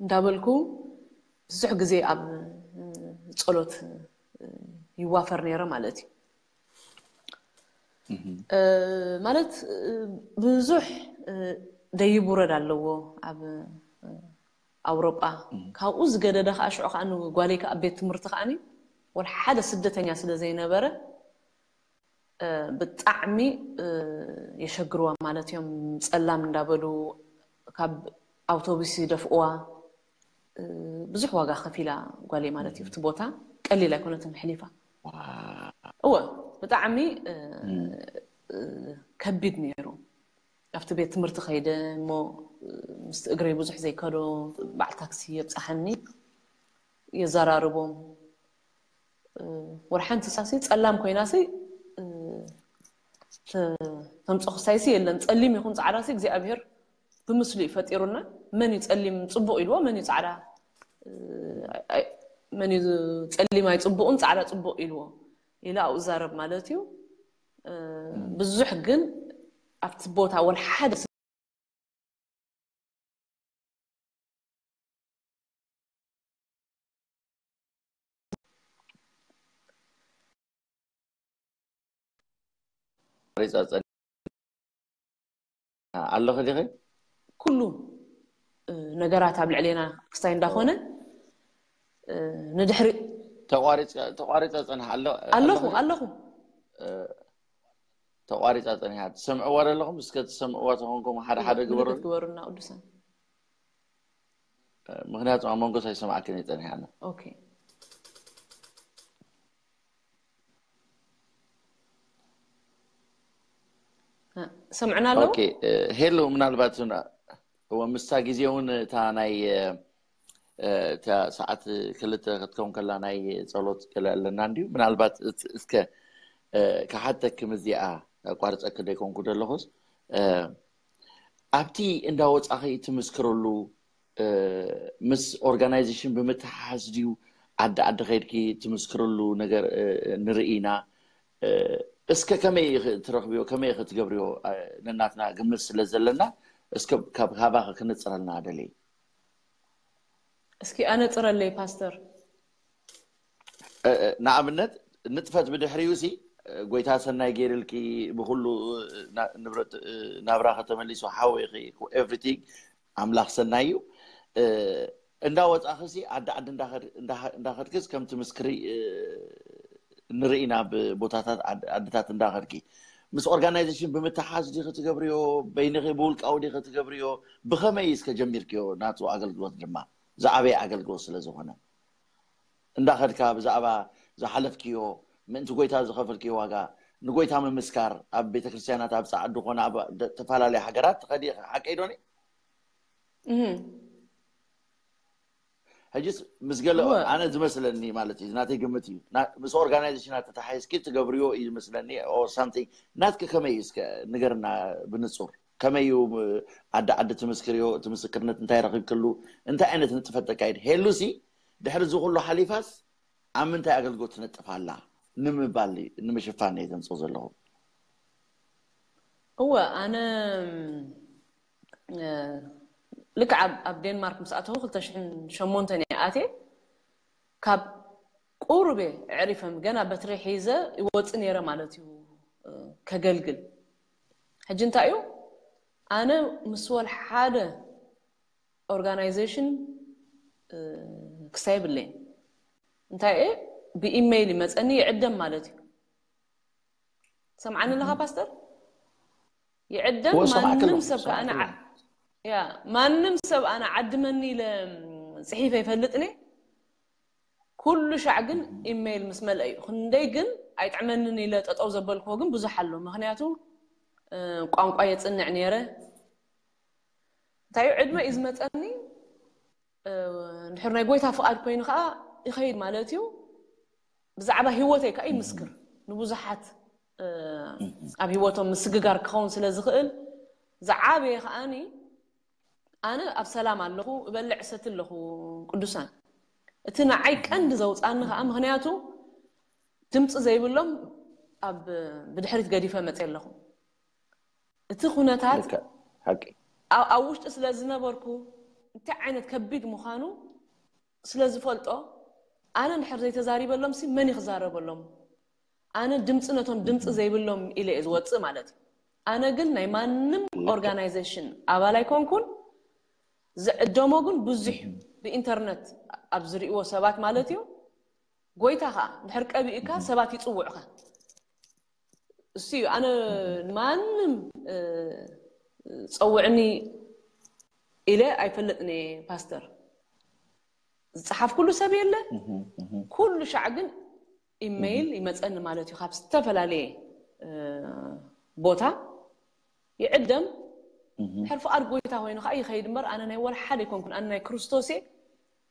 እንዳበልኩ ብዙሕ ግዜ ኣብ ጸሎት ይዋፈር ነይረ ማለት እዩ። ማለት ብዙሕ ደይብ ውረድ ኣለዎ ኣብ ኣውሮጳ። ካብኡ ዝገደደ ከዓ ሽዑ ከዓ ንጓለይ ከዓ ቤት ትምህርቲ ከዓኒ ወላ ሓደ ስደተኛ ስለ ዘይነበረ ብጣዕሚ የሸግርዋ ማለት እዮም። ፀላም እንዳበሉ ካብ ኣውቶቡስ ይደፍእዋ። ብዙሕ ዋጋ ከፊላ ጓለይ ማለት እዩ። እቲ ቦታ ቀሊል ኣይኮነትን ሕሊፋ። እወ ብጣዕሚ ከቢድ ነይሩ። ኣብቲ ቤት ትምህርቲ ከይደ እሞ ምስቲ እግረይ ብዙሕ ዘይከዶ በዓል ታክሲ የብፅሓኒ፣ የዘራርቦም። ወላ ሓንቲ ሳሲ ፀላም ኮይናሲ ተምፅኦ ክሳይሲ የለን። ፀሊም ይኹን ፃዕዳሲ እግዚኣብሔር ብምስሉ እዩ ፈጢሩና። መን እዩ ፀሊም ፅቡቕ ኢልዎ፣ መን እዩ ፃዕዳ መን እዩ ፀሊም ኣይፅቡቕን ፃዕዳ ፅቡቕ ኢልዎ ኢለ ኣብኡ ዛረብ ማለት እዩ። ብዙሕ ግን ኣብቲ ቦታ ወላ ሓደ ኣለኺ ዲኺ? ኩሉ ነገራት ኣብ ልዕሌና ክስታይ እንዳኾነ ንድሕሪ ተቋሪፀ ፀንሓ ኣሎ ኣለኹ ኣለኹ ተቋሪፃ ፀኒሓ። ትሰምዕዋ ዘለኹም? እስከ ትሰምዕዋ ተኾንኩም ሓደ ሓደ ግበሩ። ክትግበሩና ቅዱሳን። ምክንያቱ ኣብ መንጎ ኣይሰማዕክን እየ ፀኒሓ። ኦኬ። ሰምዕና ኣለዉ? ኦኬ። ሄሎ፣ ምናልባት እወ ምስታ ግዜ እውን እታ ናይ እታ ሰዓት ክልተ ክትከውን ከላ ናይ ጸሎት ገለ ኣለና እንድዩ። ምናልባት እስከ ክሓተክም እዚኣ ኣቋርጸኪ ደይኮንኩ ዘለኹስ ኣብቲ እንዳወጻኺ ትምስክርሉ ምስ ኦርጋናይዜሽን ብምትሓዝ ድዩ? ዓዲ ዓዲ ከይድኪ ትምስክርሉ ነገር ንርኢ ኢና። እስከ ከመይ ትረኽብዮ ከመይ ክትገብርዮ ነናትና ግምት ስለ ዘለና እስከ ካብ ካባኺ ክንጽረልና ደልየ። እስኪ ኣነጽረለይ ፓስተር። ንኣብነት ንጥፈት ብድሕሪኡ ሲ ጎይታ ሰናይ ገይርልኪ ብኩሉ ንብረት ናብራኸ ተመሊሱ ሓወይኺ everything ኣምላኽ ሰናይ እዩ። እንዳወፃኺ ሲ ዓዲ ዓዲ እንዳኸድክስ ከምቲ ምስክሪ ንርኢ ናብ ቦታታት ዓድታት እንዳኸድኪ ምስ ኦርጋናይዜሽን ብምትሓዝ ዲኺ ትገብርዮ በይንኺ ብውልቃዊ ዲኺ ትገብርዮ ብኸመይ እስከ ጀሚርክዮ ናቱ ኣገልግሎት ድማ ዝዓበየ ኣገልግሎት ስለ ዝኾነ እንዳኸድካ ብዛዕባ ዝሓለፍክዮ ምእንቲ ጎይታ ዝኸፈልክዮ ዋጋ ንጎይታ ምምስካር ኣብ ቤተክርስትያናት ኣብ ፃዕዱ ኮነ ኣብ ተፈላለዩ ሃገራት ትኸዲ ሓቀይ ዶኒ ሕጅስ ምስ ገለ ኣነ ዝመስለኒ ማለት እዩ ናተይ ግምት እዩ ምስ ኦርጋናይዜሽናት ተተሓሒዝኪ ትገብርዮ እዩ ዝመስለኒ something ናትኪ ከመይ እዩ እስከ ንገርና ብንፁር ከመይ እዩ ዓዲ ዓዲ ትምስክርዮ እቲ ምስክርነት እንታይ ረኺብክሉ እንታይ ዓይነት ንጥፈት ተካይድ ሄሉሲ ድሕሪ እዚ ኩሉ ሓሊፋስ ኣብ ምንታይ ኣገልግሎት ትነጥፍ ኣላ ንምባል ንምሽፋን እየ ዘምፅኦ ዘለኹ እወ ኣነ ልክዕ ኣብ ዴንማርክ ምስ ኣተኹ ክልተ ሽሕን ሸሞንተን እየ ኣትየ ካብ ቁሩብ እየ ኣዕሪፈ ገና በትሪ ሒዘ ይወፅእ ነይረ ማለት እዩ ከገልግል ሕጂ እንታይ እዩ ኣነ ምስ ወል ሓደ ኦርጋናይዜሽን ክሳብ የብለይን እንታይ እየ ብኢሜይል ይመፀኒ ይዕደም ማለት እዩ ሰምዓኒ ኣለኻ ፓስተር ይዕደም ማንም ሰብ ከኣነ ያ ማንም ሰብ ኣነ ዓድመኒ ኢለ ፅሒፈ ይፈልጥኒ ኩሉ ሻዕ ግን ኢሜይል ምስ መልአ እዩ ክንደይ ግን ኣይጥዕመንን ኢለ ጠጠው ዘበልክዎ ግን ብዙሕ ኣሎ ምክንያቱ ቋንቋ የፅንዕ ነይረ እንታይ ዕድመ እዩ ዝመፀኒ እንድሕር ናይ ጎይታ ፍቓድ ኮይኑ ከዓ ይኸይድ ማለት እዩ ብዛዕባ ህይወተይ ከዓ ይምስክር ንብዙሓት ኣብ ህይወቶም ምስግጋር ክኸውን ስለ ዝኽእል ዝዓበየ ከዓኒ ኣነ ኣብ ሰላም ኣለኹ እበልዕ ሰቲ ኣለኹ ቅዱሳን እቲ ንዓይ ቀንዲ ዘውፃኒ ከዓ ምክንያቱ ድምፂ ዘይብሎም ኣብ ብድሕሪት ገዲፈ መፅ ኣለኹ እቲ ኩነታት ኣብ ውሽጢ ስለ ዝነበርኩ እንታይ ዓይነት ከቢድ ምዃኑ ስለ ዝፈልጦ ኣነ እንድሕር ዘይተዛሪበሎም ሲ መን ይክዛረበሎም ኣነ ድምፂ ነቶም ድምፂ ዘይብሎም ኢለ እየ ዝወፅእ ማለት እዩ ኣነ ግን ናይ ማንም ኦርጋናይዜሽን ኣባል ኣይኮንኩን ዝዕደሞ ግን ብዙሕ ብኢንተርነት ኣብ ዝርእዎ ሰባት ማለት እዩ ጎይታ ከዓ እንድሕር ቀቢእካ ሰባት ይፅውዑካ እሱ እዩ ኣነ ማንም ፀውዕኒ ኢለ ኣይፈልጥን እየ ፓስተር ዝፀሓፍ ኩሉ ሰብ የለ ኩሉ ሻዕ ግን ኢሜይል ይመፀኒ ማለት እዩ ካብ ዝተፈላለየ ቦታ ይዕደም ሕር ፍቓድ ጎይታ ኮይኑ ከዓ ይኸይድ እምበር ኣነ ናይ ወላ ሓደ ይኮንኩን ኣነ ናይ ክርስቶስ እየ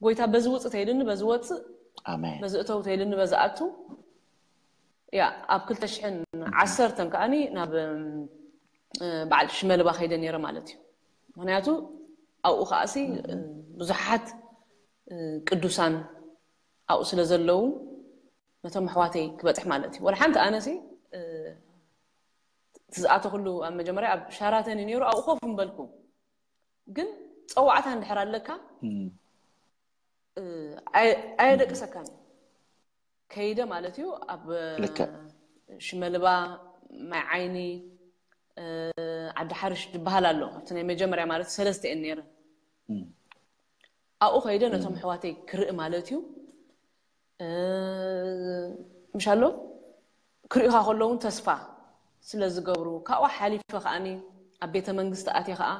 ጎይታ በዚ ውፅእ ተይልኒ በዚ ወፅእ በዚ እተው ተይልኒ በዚ ኣቱ ያ ኣብ ክልተ ሽሕን ዓሰርተን ከዓኒ ናብ በዓል ሽመልባ ከይደ ነይረ ማለት እዩ ምክንያቱ ኣብኡ ከዓሲ ብዙሓት ቅዱሳን ኣብኡ ስለ ዘለዉ ነቶም ኣሕዋተይ ክበፅሕ ማለት እዩ ወላ ሓንቲ ኣነሲ ትዝኣተክሉ ኣብ መጀመርያ ኣብ ሻራተን ነይሩ ኣብኡ ኮፍ ምበልኩ ግን ፀዋዕታ እንድሕር ኣለካ ኣየደቅሰካን ከይደ ማለት እዩ ኣብ ሽመልባ ማይ ዓይኒ ዓዲ ሓርሽ ዝበሃል ኣሎ ኣብቲ ናይ መጀመርያ ማለት ሰለስተ እየን ነይረን ኣብኡ ከይደ ነቶም ኣሕዋተይ ክርኢ ማለት እዩ ምሻሎ ክርእኻ ከለውን ተስፋ ስለ ዝገብሩ፣ ካብኡ ሓሊፈ ከኣኒ ኣብ ቤተ መንግስቲ ኣትየ ከኣ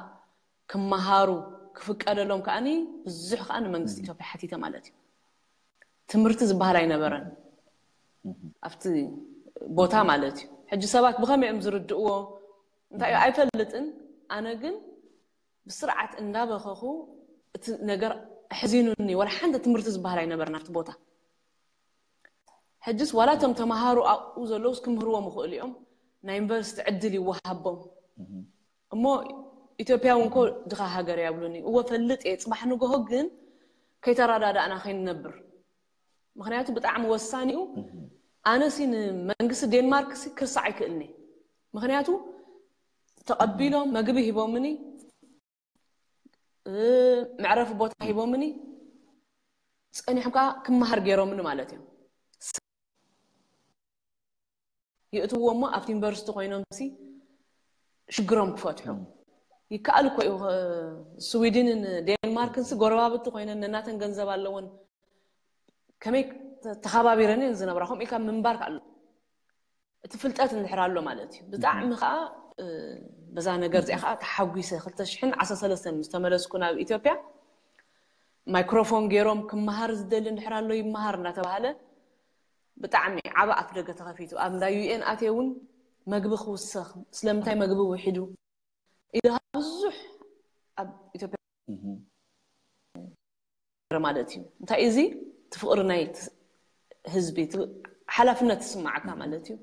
ክመሃሩ ክፍቀደሎም ከኣኒ ብዙሕ ከኣ ንመንግስቲ ኢትዮጵያ ሓቲተ ማለት እዩ። ትምህርቲ ዝበሃል ኣይነበረን ኣብቲ ቦታ ማለት እዩ። ሕጂ ሰባት ብኸመይ እዮም ዝርድእዎ እንታይ እዩ ኣይፈልጥን። ኣነ ግን ብስርዓት እንዳበኸኹ እቲ ነገር ኣሕዚኑኒ። ወላ ሓንቲ ትምህርቲ ዝበሃል ኣይነበረን ኣብቲ ቦታ። ሕጅስ ዋላ እቶም ተምሃሩ ኣብኡ ዘለውስ ክምህርዎም ይኽእሉ እዮም። ናይ ዩኒቨርሲቲ ዕድል ይወሃቦም እሞ ኢትዮጵያ እውን ኮ ድኻ ሃገር እያ ብሉኒ። እወ ፈልጥ እየ። ፅባሕ ንግሆ ግን ከይተረዳዳእና ከይንነብር። ምክንያቱ ብጣዕሚ ወሳኒኡ ኣነሲ ንመንግስቲ ዴንማርክ ሲ ክርሳዕ ኣይክእልኒ። ምክንያቱ ተቐቢሎም መግቢ ሂቦምኒ፣ እ፣ መዕረፊ ቦታ ሂቦምኒ፣ ጸኒሖም ከዓ ክመሃር ገይሮምኒ ማለት እዮም። ይእትዎ እሞ ኣብቲ ዩኒቨርሲቲ ኮይኖም ሲ ሽግሮም ክፈትሑ ይከኣል እኮ እዩ። ስዊድንን ዴንማርክን ሲ ጎረባብቲ ኮይነን ነናተን ገንዘብ ኣለወን። ከመይ ተ-፣ ተኸባቢረን እየን ዝነብራ። ከምኡ ኢልካ ምንባር ከኣሎ እቲ ፍልጠት እንድሕር ኣሎ ማለት እዩ። ብጣዕሚ ከዓ፣ እ፣ በዛ ነገር እዚኣ ከዓ ተሓጒሰ። ክልተ ሽሕን ዓሰርተ ሰለስተን ምስ ተመለስኩ ናብ ኢትዮጵያ፣ ማይክሮፎን ገይሮም ክመሃር ዝደሊ እንድሕር ኣሎ ይመሃር እናተባሃለ ብጣዕሚ ዓቢ ኣፍ ደገ ተኸፊቱ። ኣብ እንዳ ዩ ኤን ኣትየ እውን መግቢ ክውሰኽ፣ ስለምንታይ መግቢ ውሒዱ ኢሉ ብዙሕ ኣብ ኢትዮጵያ ማለት እዩ። እንታይ እዚ እቲ ፍቕሪ ናይ ት-፣ ህዝቢ፣ እቲ ሓላፍነት ዝስማዓካ ማለት እዩ።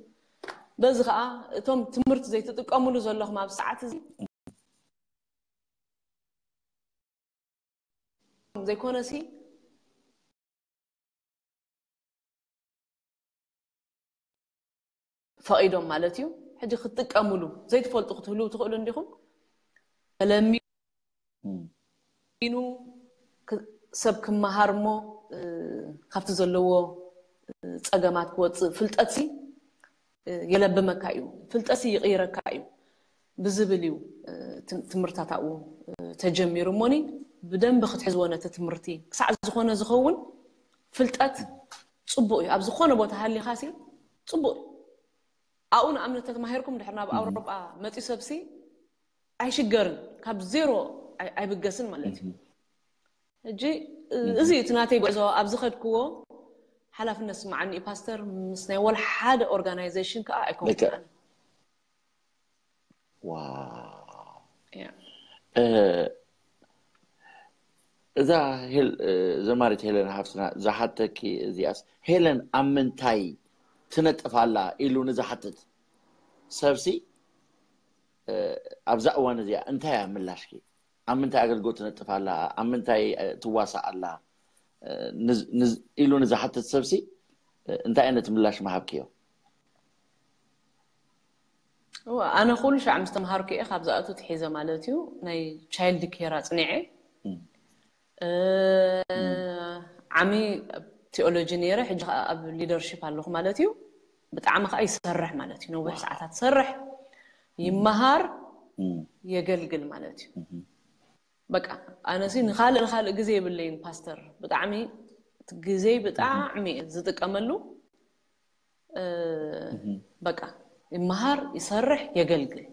በዚ ከዓ እቶም ትምህርቲ ዘይትጥቀምሉ ዘለኹም ኣብ ሰዓት እዚ ዘይኮነሲ ፈቒዶም ማለት እዩ። ሕጂ ክትጥቀምሉ ዘይትፈልጡ ክትህልዉ ትኽእሉ እንዲኹም። ተለሚኑ ክ-፣ ሰብ ክመሃር እሞ፣ እ፣ ካብቲ ዘለዎ፣ እ፣ ጸገማት ክወጽእ ፍልጠትሲ፣ እ፣ የለብመካ እዩ። ፍልጠትሲ ይቕይረካ እዩ ብዝብል እዩ፣ እ፣ ትም-፣ ትምህርታት ኣብኡ፣ እ፣ ተጀሚሩ እሞኒ ብደንቢ ክትሕዝዎ ነቲ ትምህርቲ ክሳዕ ዝኾነ ዝኸውን ፍልጠት ጽቡቕ እዩ። ኣብ ዝኾነ ቦታ ሃሊኻሲ ጽቡቕ እዩ። ኣብኡ ንኣብነት ተተማሂርኩም ድሕር ናብ ኣውሮጳ መጺኡ ሰብሲ ኣይሽገርን፣ ካብ ዜሮ ኣይ-፣ ኣይብገስን ማለት እዩ። ሕጂ፣ እ፣ እዚ እዩ እቲ ናተይ ጉዕዞ። ኣብ ዝኸድክዎ ሓላፍነት ስምዓኒ እዩ ፓስተር፣ ምስ ናይ ወላ ሓደ ኦርጋናይዜሽን ከኣ ኣይኮንኩን ልክዕ። ኣነ። ዋው። ያ። እ፣ እዛ ሄል-፣ እ፣ ዘማሪት ሄለን ሃፍትና ዝሓተኪ እዚኣስ፣ ሄለን ኣብ ምንታይ ትነጥፍ ኣላ ኢሉ ንዝሓትት ሰብሲ፣ እ፣ ኣብዛ እዋን እዚኣ እንታይ እያ ምላሽኪ? ኣብ ምንታይ ኣገልግሎት ትነጥፍ ኣላ? ኣብ ምንታይ፣ እ፣ ትዋሳእ ኣላ? እ፣ ንዝ-፣ ንዝ-፣ ኢሉ ንዝሓትት ሰብሲ፣ እ፣ እንታይ ዓይነት ምላሽ ምሃብክዮ? እወ፣ ኣነ ኩሉ ሻዕ ምስ ተምሃርኩ እየ ካብ ዝኣቱ ትሒዘ ማለት እዩ። ናይ ቻይልድ ኬር ኣጽኒዐ። እም። እ፣ እም። ዓሚ ኣብ ቲኦሎጂ ነይረ፣ ሕጂ ኸኣ ኣብ ሊደርሺፕ ኣለኹ ማለት እዩ። ብጣዕሚ ኸኣ ይሰርሕ ማለት እዩ። ነዊሕ ዋው። ሰዓታት ይሰርሕ፣ እም። ይመሃር፣ እም። የገልግል ማለት እዩ። እም። በቃ፣ ኣነሲ ንኻልእ፣ ንኻልእ ግዜ የብለይን ፓስተር። ብጣዕሚ እቲ ግዜ ብጣዕሚ እየ ዝጥቀመሉ። እ፣ እህ። በቃ፣ ይመሃር፣ ይሰርሕ፣ የገልግል።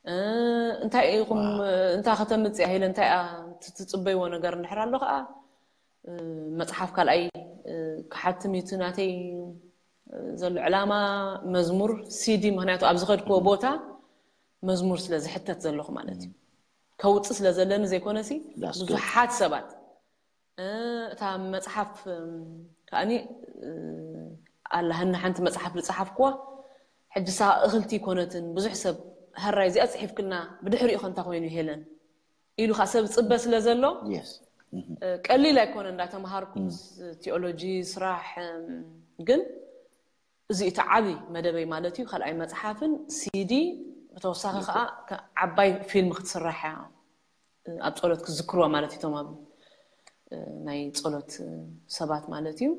እ፣ እንታይ ኢኹም፣ ዋው። እንታ ከተምጽእ ኢለ፣ እንታይ እያ እቲ ትጽበይዎ ነገር እንድሕር ኣሎ ኸኣ፣ እ፣ መጽሓፍ ካልኣይ፣ እ፣ ክሓትም እዩ እቲ ናተይ፣ እ፣ ዘሎ ዕላማ፣ መዝሙር፣ ሲዲ፣ ምኽንያቱ ኣብ ዝኸድክዎ እህ። ቦታ መዝሙር ስለ ዝሕተት ዘለኹ ማለት እዩ። እህ። ከውጽእ ስለ ዘለኒ ዘይኮነሲ፣ that's good። ብዙሓት ሰባት እ፣ እታ መጽሓፍ፣ እም፣ ከኣኒ፣ እ፣ ኣላ፣ ህና ሓንቲ መጽሓፍ ዝጸሓፍክዋ፣ ሕጂ እሳ እኽልቲ ኣይኮነትን፣ ብዙሕ ሰብ፣ "ህራይ እዚኣ ጽሒፍክልና፣ ብድሕሪኡ ከ እንታይ ኮይኑ ሄለን?" ኢሉ ከኣ ሰብ ዝጽበ ስለ ዘሎ፣ የስ። እህ። እ፣ ቀሊል ኣይኮነ እንዳተምሃርኩ እም። ምስ ቲኦሎጂ ስራሕ፣ እም፣ ግን እዚ እቲ ዓቢ መደበይ ማለት እዩ። ካልኣይ መጽሓፍን ሲዲ፣ ብተወሳኺ ልክዕ። ከኣ ከ-፣ ዓባይ ፊልም ክትስራሕ እያ። ኣብ ጸሎት ክዝክርዋ ማለት እዩ፣ እቶም ኣብ፣ እ፣ ናይ ጸሎት፣ እ፣ ሰባት ማለት እዩ።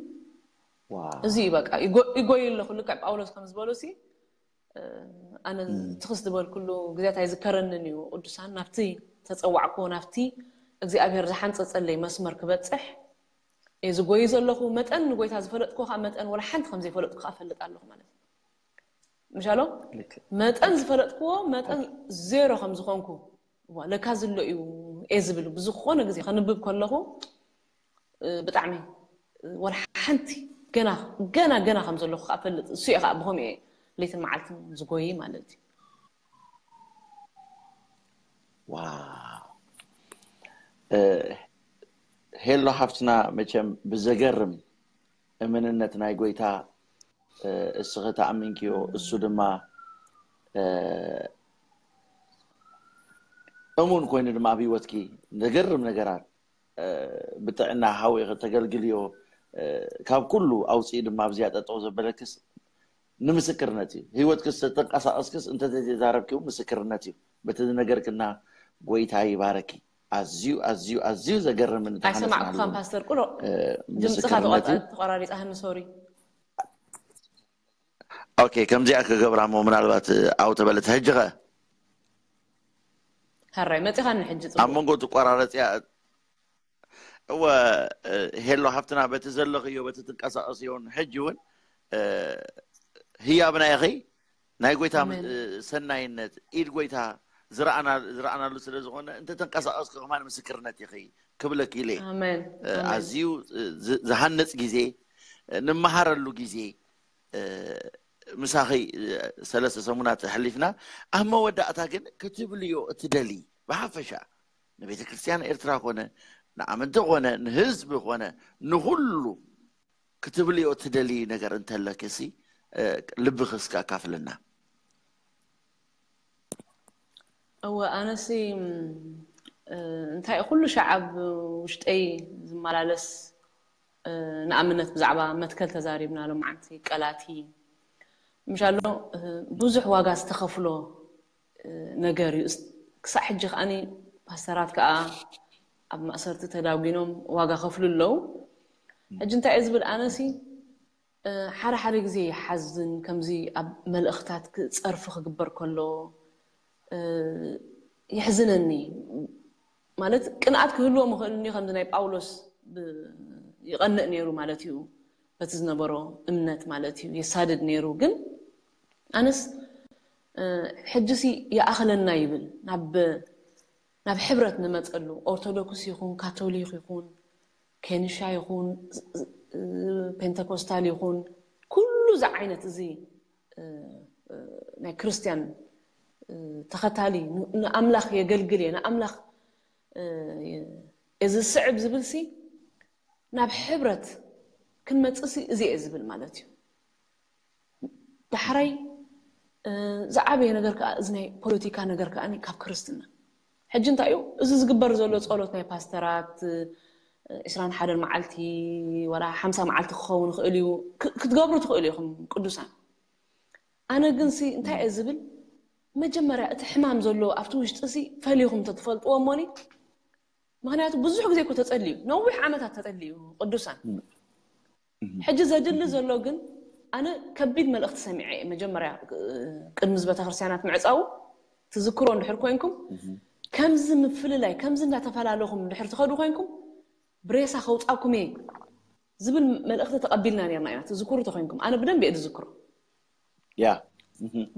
ዋው። እዚ እዩ በቃ፣ ይጎ-፣ ይጎይ ኣለኹ። ልክዕ ጳውሎስ ከም ዝበሎ ሲ፣ እ፣ ኣነ እም። ትኽስ ዝበልኩሉ ግዜያት ኣይዝከረንን እዩ። ቅዱሳን ናብቲ ተጸዋዕክዎ፣ ናብቲ እግዚኣብሔር ዝሓንጸጸለይ መስመር ክበጽሕ እየ ዝጎይ ዘለኹ። መጠን ንጎይታ ዝፈለጥክዎ ከኣ መጠን ወላ ሓንቲ ከም ዘይፈለጥኩ ከኣ እፈልጥ ኣለኹ ማለት እዩ። ምሻሎ መጠን ዝፈለጥክዎ መጠን ዜሮ ከም ዝኾንኩ ለካ ዝሎ እዩ እየ ዝብል። ብዝኾነ ግዜ ከንብብ ከለኹ ብጣዕሚ ወላ ሓንቲ ገና ገና ገና ከም ዘለኹ ከዓ ፈልጥ። እሱ እየ ከዓ ብኸምኡ እየ ለይትን መዓልትን ዝጎይ ማለት እዩ። ሄሎ ሓፍትና፣ መቸም ብዘገርም እምንነት ናይ ጎይታ እስኺ ተኣሚንክዮ፣ እሱ ድማ እሙን ኮይኑ ድማ ኣብ ህይወትኪ ዘገርም ነገራት ብጥዕና ሓዊኺ ተገልግልዮ፣ ካብ ኩሉ ኣውፅኡ ድማ ኣብዚኣ ጠጠው ዘበለክስ ንምስክርነት እዩ። ህይወትክስ ተንቀሳቐስክስ እንተዘይተዛረብኪ እውን ምስክርነት እዩ። በቲ ዝነገርክና ጎይታ ይባረኪ። ኣዝዩ ኣዝዩ ኣዝዩ ዘገርምን ኣይሰማዕኩኻን ፓስተር ቁሎ፣ ድምፅኻ ተቋራሪፃህኒ። ሶሪ። ኦኬ፣ ከምዚኣ ክገብራ እሞ ምናልባት ኣው ተበለት። ሕጂ ኸ ሃራይ መፂኻኒ። ሕጂ ኣብ መንጎ ትቆራረፅያ። እወ፣ ሄሎ ሓፍትና፣ በቲ ዘለኽዮ፣ በቲ ትንቀሳቐስዮን ሕጂ እውን ህያብና ኢኺ። ናይ ጎይታ ሰናይነት፣ ኢድ ጎይታ ዝረኣናሉ ስለ ዝኾነ፣ እንተተንቀሳቐስኪ ከማን ምስክርነት ኢኺ ክብለኪ ኢለ። ኣዝዩ ዝሃንጽ ግዜ፣ ንመሃረሉ ግዜ ምሳኺ ሰለስተ ሰሙናት ኣሕሊፍና። ኣብ መወዳእታ ግን ክትብልዮ እትደሊ ብሓፈሻ ንቤተ ክርስቲያን ኤርትራ ኮነ ንኣመንቲ ኮነ ንህዝቢ ኮነ ንኹሉ ክትብልዮ እትደሊ ነገር እንተለኪ ሲ ልብኺ እስከ ኣካፍልና። እወ ኣነሲ እንታይ ኩሉ ሻዕ ኣብ ውሽጠይ ዝመላለስ ንኣብነት ብዛዕባ መትከል ተዛሪብና ሎማዓንቲ ቀላቲ ምሻሎ ብዙሕ ዋጋ ዝተኸፍሎ ነገር እዩ። ክሳዕ ሕጂ ከዓኒ ፓስተራት ከዓ ኣብ ማእሰርቲ ተዳጒኖም ዋጋ ከፍሉ ኣለዉ። ሕጂ እንታይ እየ ዝብል ኣነሲ ሓደ ሓደ ግዜ ይሓዝን ከምዚ ኣብ መልእኽታት ጸርፊ ክግበር ከሎ ይሕዝነኒ። ማለት ቅንኣት ክህልዎ ምኽእል እንዲ ከምዚ ናይ ጳውሎስ ይቐንእ ነይሩ ማለት እዩ። በቲ ዝነበሮ እምነት ማለት እዩ የሳድድ ነይሩ። ግን ኣነስ ሕጂሲ ይኣኽለና ይብል ናብ ናብ ሕብረት ንመፀሉ ኦርቶዶክስ ይኹን ካቶሊክ ይኹን ኬንሻ ይኹን ፔንተኮስታል ይኹን ኩሉ እዚ ዓይነት እዚ ናይ ክርስትያን ተኸታሊ ንኣምላኽ የገልግል እየ ንኣምላኽ እዚ ስዕብ ዝብል ሲ ናብ ሕብረት ክንመፅእ ሲ እዚ እየ ዝብል ማለት እዩ። ዳሕራይ ዝዓበየ ነገር ከዓ እዚ ናይ ፖለቲካ ነገር ከዓ ካብ ክርስትና ሕጂ እንታይ እዩ እዚ ዝግበር ዘሎ ፀሎት ናይ ፓስተራት ዕስራን ሓደን መዓልቲ ወላ ሓምሳ መዓልቲ ክኸውን ይኽእል እዩ ክትገብሩ ትኽእሉ ኢኹም ቅዱሳን። ኣነ ግን ሲ እንታይ እየ ዝብል መጀመርያ እቲ ሕማም ዘሎ ኣብቲ ውሽጢ ሲ ፈሊኹም ተትፈልጥዎ እሞኒ ምክንያቱ ብዙሕ ግዜ እኮ ተፀልዩ ነዊሕ ዓመታት ተፀልዩ ቅዱሳን ሕጂ ዘድሊ ዘሎ ግን ኣነ ከቢድ መልእኽቲ ሰሚዐ እየ መጀመርያ ቅድሚ እዚ ቤተክርስትያናት ምዕፃዉ ትዝክሮ እንድሕር ኮይንኩም ከምዚ ምፍልላይ ከምዚ እንዳተፈላለኹም እንድሕር ትኸዱ ኮይንኩም ብሬሳ ከውፃኩም እየ ዝብል መልእኽቲ ተቐቢልና ነርና ኢና ትዝክሩ ተኮይንኩም ኣነ ብደንብ እየ ዝዝክሮ ያ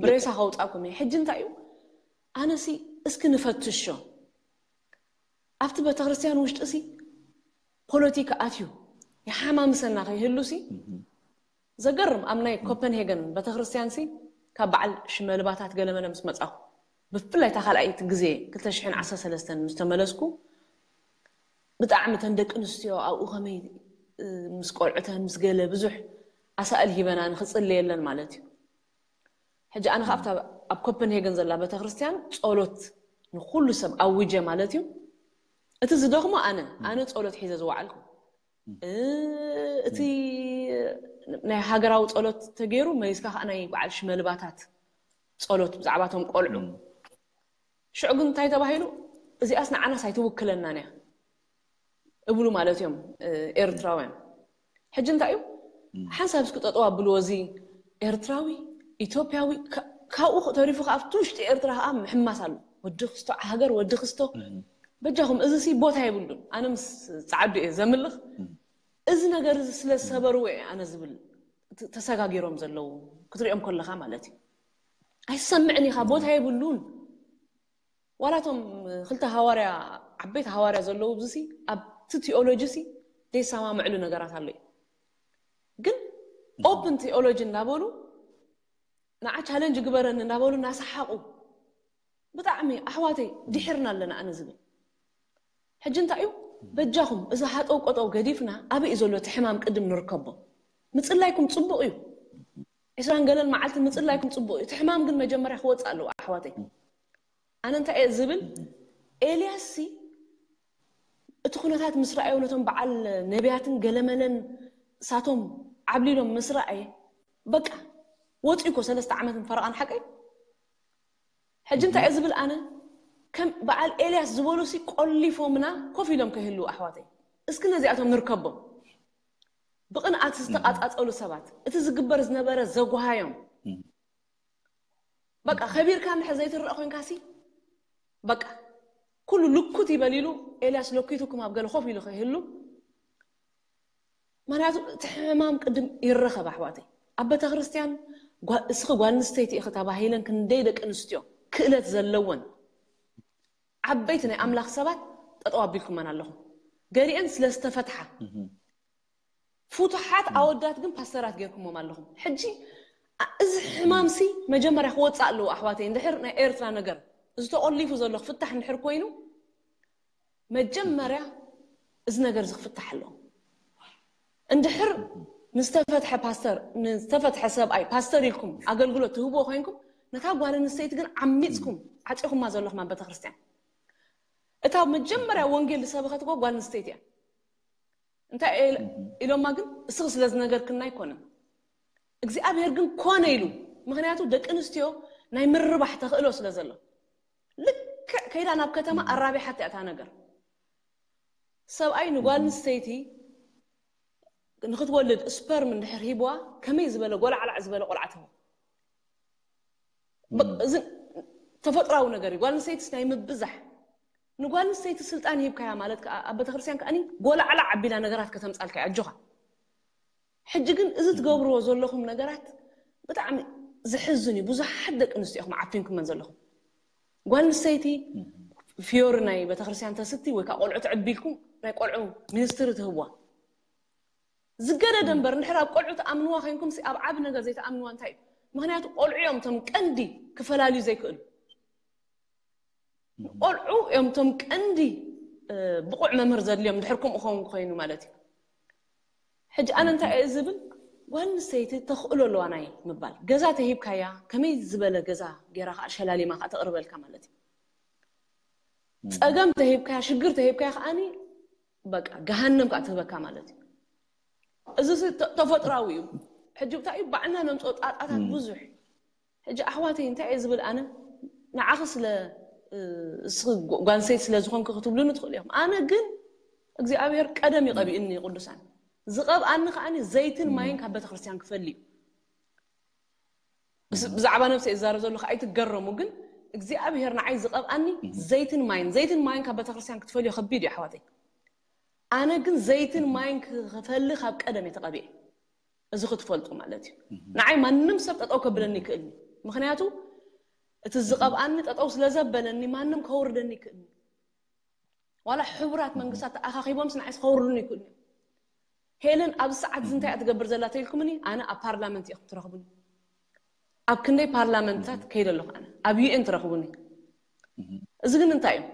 ብሬሳ ከውፃኩም እየ ሕጂ እንታይ እዩ ኣነሲ እስኪ ንፈትሾ ኣብቲ ቤተክርስትያን ውሽጢ ሲ ፖለቲካ ኣትዩ ይሓማምሰና ከይህሉ ሲ ዘገርም ኣብ ናይ ኮፐንሄገን ቤተክርስትያን ሲ ካብ በዓል ሽመልባታት ገለመለ ምስ መፃኹ ብፍላይ እታ ካልኣይቲ ግዜ ክልተ ሽሕን ዓሰርተ ሰለስተን ምስ ተመለስኩ ብጣዕሚ ተን ደቂ ኣንስትዮ ኣብኡ ከመይ ምስ ቆልዑተን ምስ ገለ ብዙሕ ኣሳእል ሂበና ንክፅለየለን ማለት እዩ ሕጂ ኣነ ካብታ ኣብ ኮፐንሄገን ዘላ ቤተክርስትያን ጸሎት ንኩሉ ሰብ ኣውጀ ማለት እዩ። እቲ ዝደኽሞ ኣነ ኣነ ጸሎት ሒዘ ዝወዓልኩ እቲ ናይ ሃገራዊ ጸሎት ተገይሩ መሊስካ ከዓ ናይ በዓል ሽመልባታት ጸሎት ብዛዕባቶም ቆልዑ ሽዑ ግን እንታይ ተባሂሉ እዚኣስ ንዓናስ ኣይትውክለናን እያ እብሉ ማለት እዮም ኤርትራውያን። ሕጂ እንታይ እዩ ሓንሳብ እስኪ ጠጠው ኣብልዎ እዚ ኤርትራዊ ኢትዮጵያዊ ካብኡ ተሪፉ ከዓ ኣብቲ ውሽጢ ኤርትራ ከዓ ምሕማስ ኣሎ ወዲ ክስቶ ሃገር ወዲ ክስቶ በጃኹም እዚ ሲ ቦታ የብሉን ኣነ ምስ ፃዓዱ እየ ዘምልኽ እዚ ነገር እዚ ስለ ዝሰበርዎ እየ ኣነ ዝብል ተሰጋጊሮም ዘለዉ ክትሪኦም ከለካ ማለት እዩ ኣይሰምዕን ኢኻ፣ ቦታ የብሉን። ዋላቶም ክልተ ሃዋርያ፣ ዓበይቲ ሃዋርያ ዘለዉ ብዙሲ ኣብቲ ቲኦሎጂ ሲ ዘይሰማምዕሉ ነገራት ኣሎ እዩ። ግን ኦፕን ቲኦሎጂ እናበሉ ንዓ ቻለንጅ ግበረኒ እናበሉ እናሰሓቑ፣ ብጣዕሚ ኣሕዋተይ ድሒርና ኣለና ኣነ ዝብል። ሕጂ እንታይ እዩ? በጃኹም እዚ ሃጠው ቆጠው ገዲፍና ኣበይ እዩ ዘሎ እቲ ሕማም ቅድም ንርከቦ። ምፅላይኩም ፅቡቕ እዩ። ዕስራን ገለን መዓልቲ ምፅላይኩም ፅቡቕ እዩ። እቲ ሕማም ግን መጀመርያ ክወፅእ ኣለዎ ኣሕዋተይ። ኣነ እንታይ እየ ዝብል? ኤልያስ ሲ እቲ ኩነታት ምስ ረኣዮ ነቶም በዓል ነቢያትን ገለመለን ሳቶም ዓብሊሎም ምስ ረኣየ በቃ ወፂኡ እኮ ሰለስተ ዓመትን ፈረቓን ሓቀይ። ሕጂ እንታይ እየ ዝብል ኣነ? ከም በዓል ኤልያስ ዝበሉ ሲ ቆሊፎምና ኮፍ ኢሎም ከይህልዉ ኣሕዋተይ። እስኪ ነዚኣቶም ንርከቦም። ብቕንኣት ዝተቓጻጸሉ ሰባት፣ እቲ ዝግበር ዝነበረ ዘጓሃዮም። በቃ ከቢርካ እንድሕር ዘይትረእ ኮይንካ ሲ በቃ ኩሉ ልኩት ይበል ኢሉ ኤልያስ ለኪቱኩም ኣብ ገለ ኮፍ ኢሉ ከይህሉ። ምክንያቱ እቲ ሕማም ቅድም ይረኸብ ኣሕዋተይ። ኣብ ቤተ ክርስቲያን ጓ-፣ እስኺ ጓል ኣንስተይቲ ኢኺ ተባሂለን ክንደይ ደቂ ኣንስትዮ ክእለት ዘለወን ዓበይቲ ናይ ኣምላኽ ሰባት ጠጠው ኣቢልኩመን ኣለኹም። ገሊአን ስለ ዝተፈትሓ ፍቱሓት ኣወዳት ግን ፓስተራት ጌርኩሞም ኣለኹም። ሕጂ ኣ-፣ እዚ ሕማም ሲ መጀመርያ ክወፅእ ኣለዎ ኣሕዋተይ። እንድሕር ናይ ኤርትራ ነገር እዚ ተቆሊፉ ዘሎ ክፍታሕ እንድሕር ኮይኑ መጀመርያ እዚ ነገር እዚ ክፍታሕ ኣለዎ። እንድሕር ንዝተፈትሐ ፓስተር፣ ንዝተፈትሐ ሰብኣይ ፓስተር ኢልኩም ኣገልግሎት ትህብዎ ኮይንኩም ነታ ጓል ኣንስተይቲ ግን ዓሚፅኩም ዓፂኹማ ዘለኹም ኣብ ቤተክርስትያን። እታ መጀመርያ ወንጌል ዝሰበኸት እኮ ጓል ኣንስተይቲ እያ። እንታይ ኢል-፣ ኢሎማ ግን እስኺ ስለ ዝነገርክና ኣይኮነን። እግዚኣብሔር ግን ኮነ ኢሉ። ምክንያቱ ደቂ ኣንስትዮ ናይ ምርባሕ ተኽእሎ ስለ ዘሎ። ልክዕ ከይዳ ናብ ከተማ ኣራቢሓት እያ እታ ነገር። ሰብኣይ ንጓል ኣንስተይቲ ንክትወልድ ስፐርም እንድሕር ሂብዋ ከመይ ዝበለ ጎላዕላዕ ዝበለ ቆልዓ ትህቦ። በ-፣ እዚ ተፈጥራዊ ነገር እዩ። ጓል ኣንስተይትስ ናይ ምብዛሕ። ንጓል ኣንስተይቲ ስልጣን ሂብካያ ማለት ከኣ ኣብ ቤተክርስትያን ከኣኒ ጎላዕላዕ ኣቢላ ነገራት ከተምጻልካ እያ። ኣጆኻ። ሕጂ ግን እዚ ትገብርዎ ዘለኹም ነገራት ብጣዕሚ ዘሕዝን እዩ። ብዙሓት ደቂ ኣንስትዮ ኢኹም ዓፊንኩመን ዘለኹም። ጓል ኣንስተይቲ ፍዮሪ ናይ ቤተክርስትያን ተስቲ ወይ ከዓ ቆልዑ ትዕቢልኩም ናይ ቆልዑ ሚኒስትሪ ትህብዋ። ዝገደደ እምበር እንድሕር ኣብ ቆልዑ ትኣምንዋ ኮይንኩም ሲ ኣብ ዓቢ ነገር ዘይትኣምንዋ እንታይ እዩ? ምክንያቱ ቆልዑ እዮም እቶም ቀንዲ ክፈላልዩ ዘይክእሉ። ቆልዑ እዮም እቶም ቀንዲ፣ እ፣ ብቑዕ መምህር ዘድልዮም እንድሕር ከምኡ ኸውን ኮይኑ ማለት እዩ። ሕጂ ኣነ እንታይ እየ ዝብል? ጓል ኣንስተይቲ ተኽእሎ ኣለዋ ናይ ምባል። ገዛ ተሂብካያ፣ ከመይ ዝበለ ገዛ ገይራ ከዓ ሸላሊማ ከዓ ተቕርበልካ ማለት እዩ። ጸገም ተሂብካያ፣ ሽግር ተሂብካያ ከዓኒ በቃ ገሃነም ከዓ ትህበካ ማለት እዩ። እዚ ሲ ተ-፣ ተፈጥራዊ እዩ። ሕጂ ብታይ እዩ ባዕልና ነምፅኦ ጣጣታት ብዙሕ። ሕጂ ኣሕዋተይ እንታይ እየ ዝብል ኣነ? ንዓኺ ስለ፣ እ፣ እስኺ ጓ-፣ ጓል ኣንስተይቲ ስለ ዝኾንኪ ክትብሉኒ ትኽእሉ ኢኹም። ኣነ ግን እግዚኣብሔር ቀደም ይቐቢእኒ ቅዱሳን። ዝቐብኣኒ ከዓኒ ዘይትን ማይን ካብ ቤተክርስትያን ክፈሊ እዩ። ብስ-፣ ብዛዕባ ነብሰይ እዛረብ ዘለኹ ኣይትገረሙ፣ ግን እግዚኣብሔር ንዓይ ዝቐብኣኒ ዘይትን ማይን፣ ዘይትን ማይን ካብ ቤተክርስትያን ክትፈልዮ ከቢድ እዩ ኣሕዋተይ። ኣነ ግን ዘይትን ማይን ክፈሊ ካብ ቀደም እየ ተቐቢኤ። እዚ ክትፈልጡ ማለት እዩ። ንዓይ ማንም ሰብ ጠጠው ከብለኒ ይክእልኒ። ምክንያቱ እቲ ዝቐብኣኒ ጠጠው ስለ ዘበለኒ ማንም ከውርደኒ ይክእልኒ። ዋላ ሕቡራት መንግስታት ተኣኻኺቦምስ ንዓይስ ከውርዱኒ ይክእልኒ። ሄለን ኣብዚ ሰዓት እዚ እንታይ እያ ትገብር ዘላ ተኢልኩምኒ፣ ኣነ ኣብ ፓርላመንት ኢኹም ትረኽቡኒ። ኣብ ክንደይ ፓርላመንታት ከይደ ኣለኹ ኣነ፣ ኣብ ዩ ኤን ትረኽቡኒ። እዚ ግን እንታይ እዩ?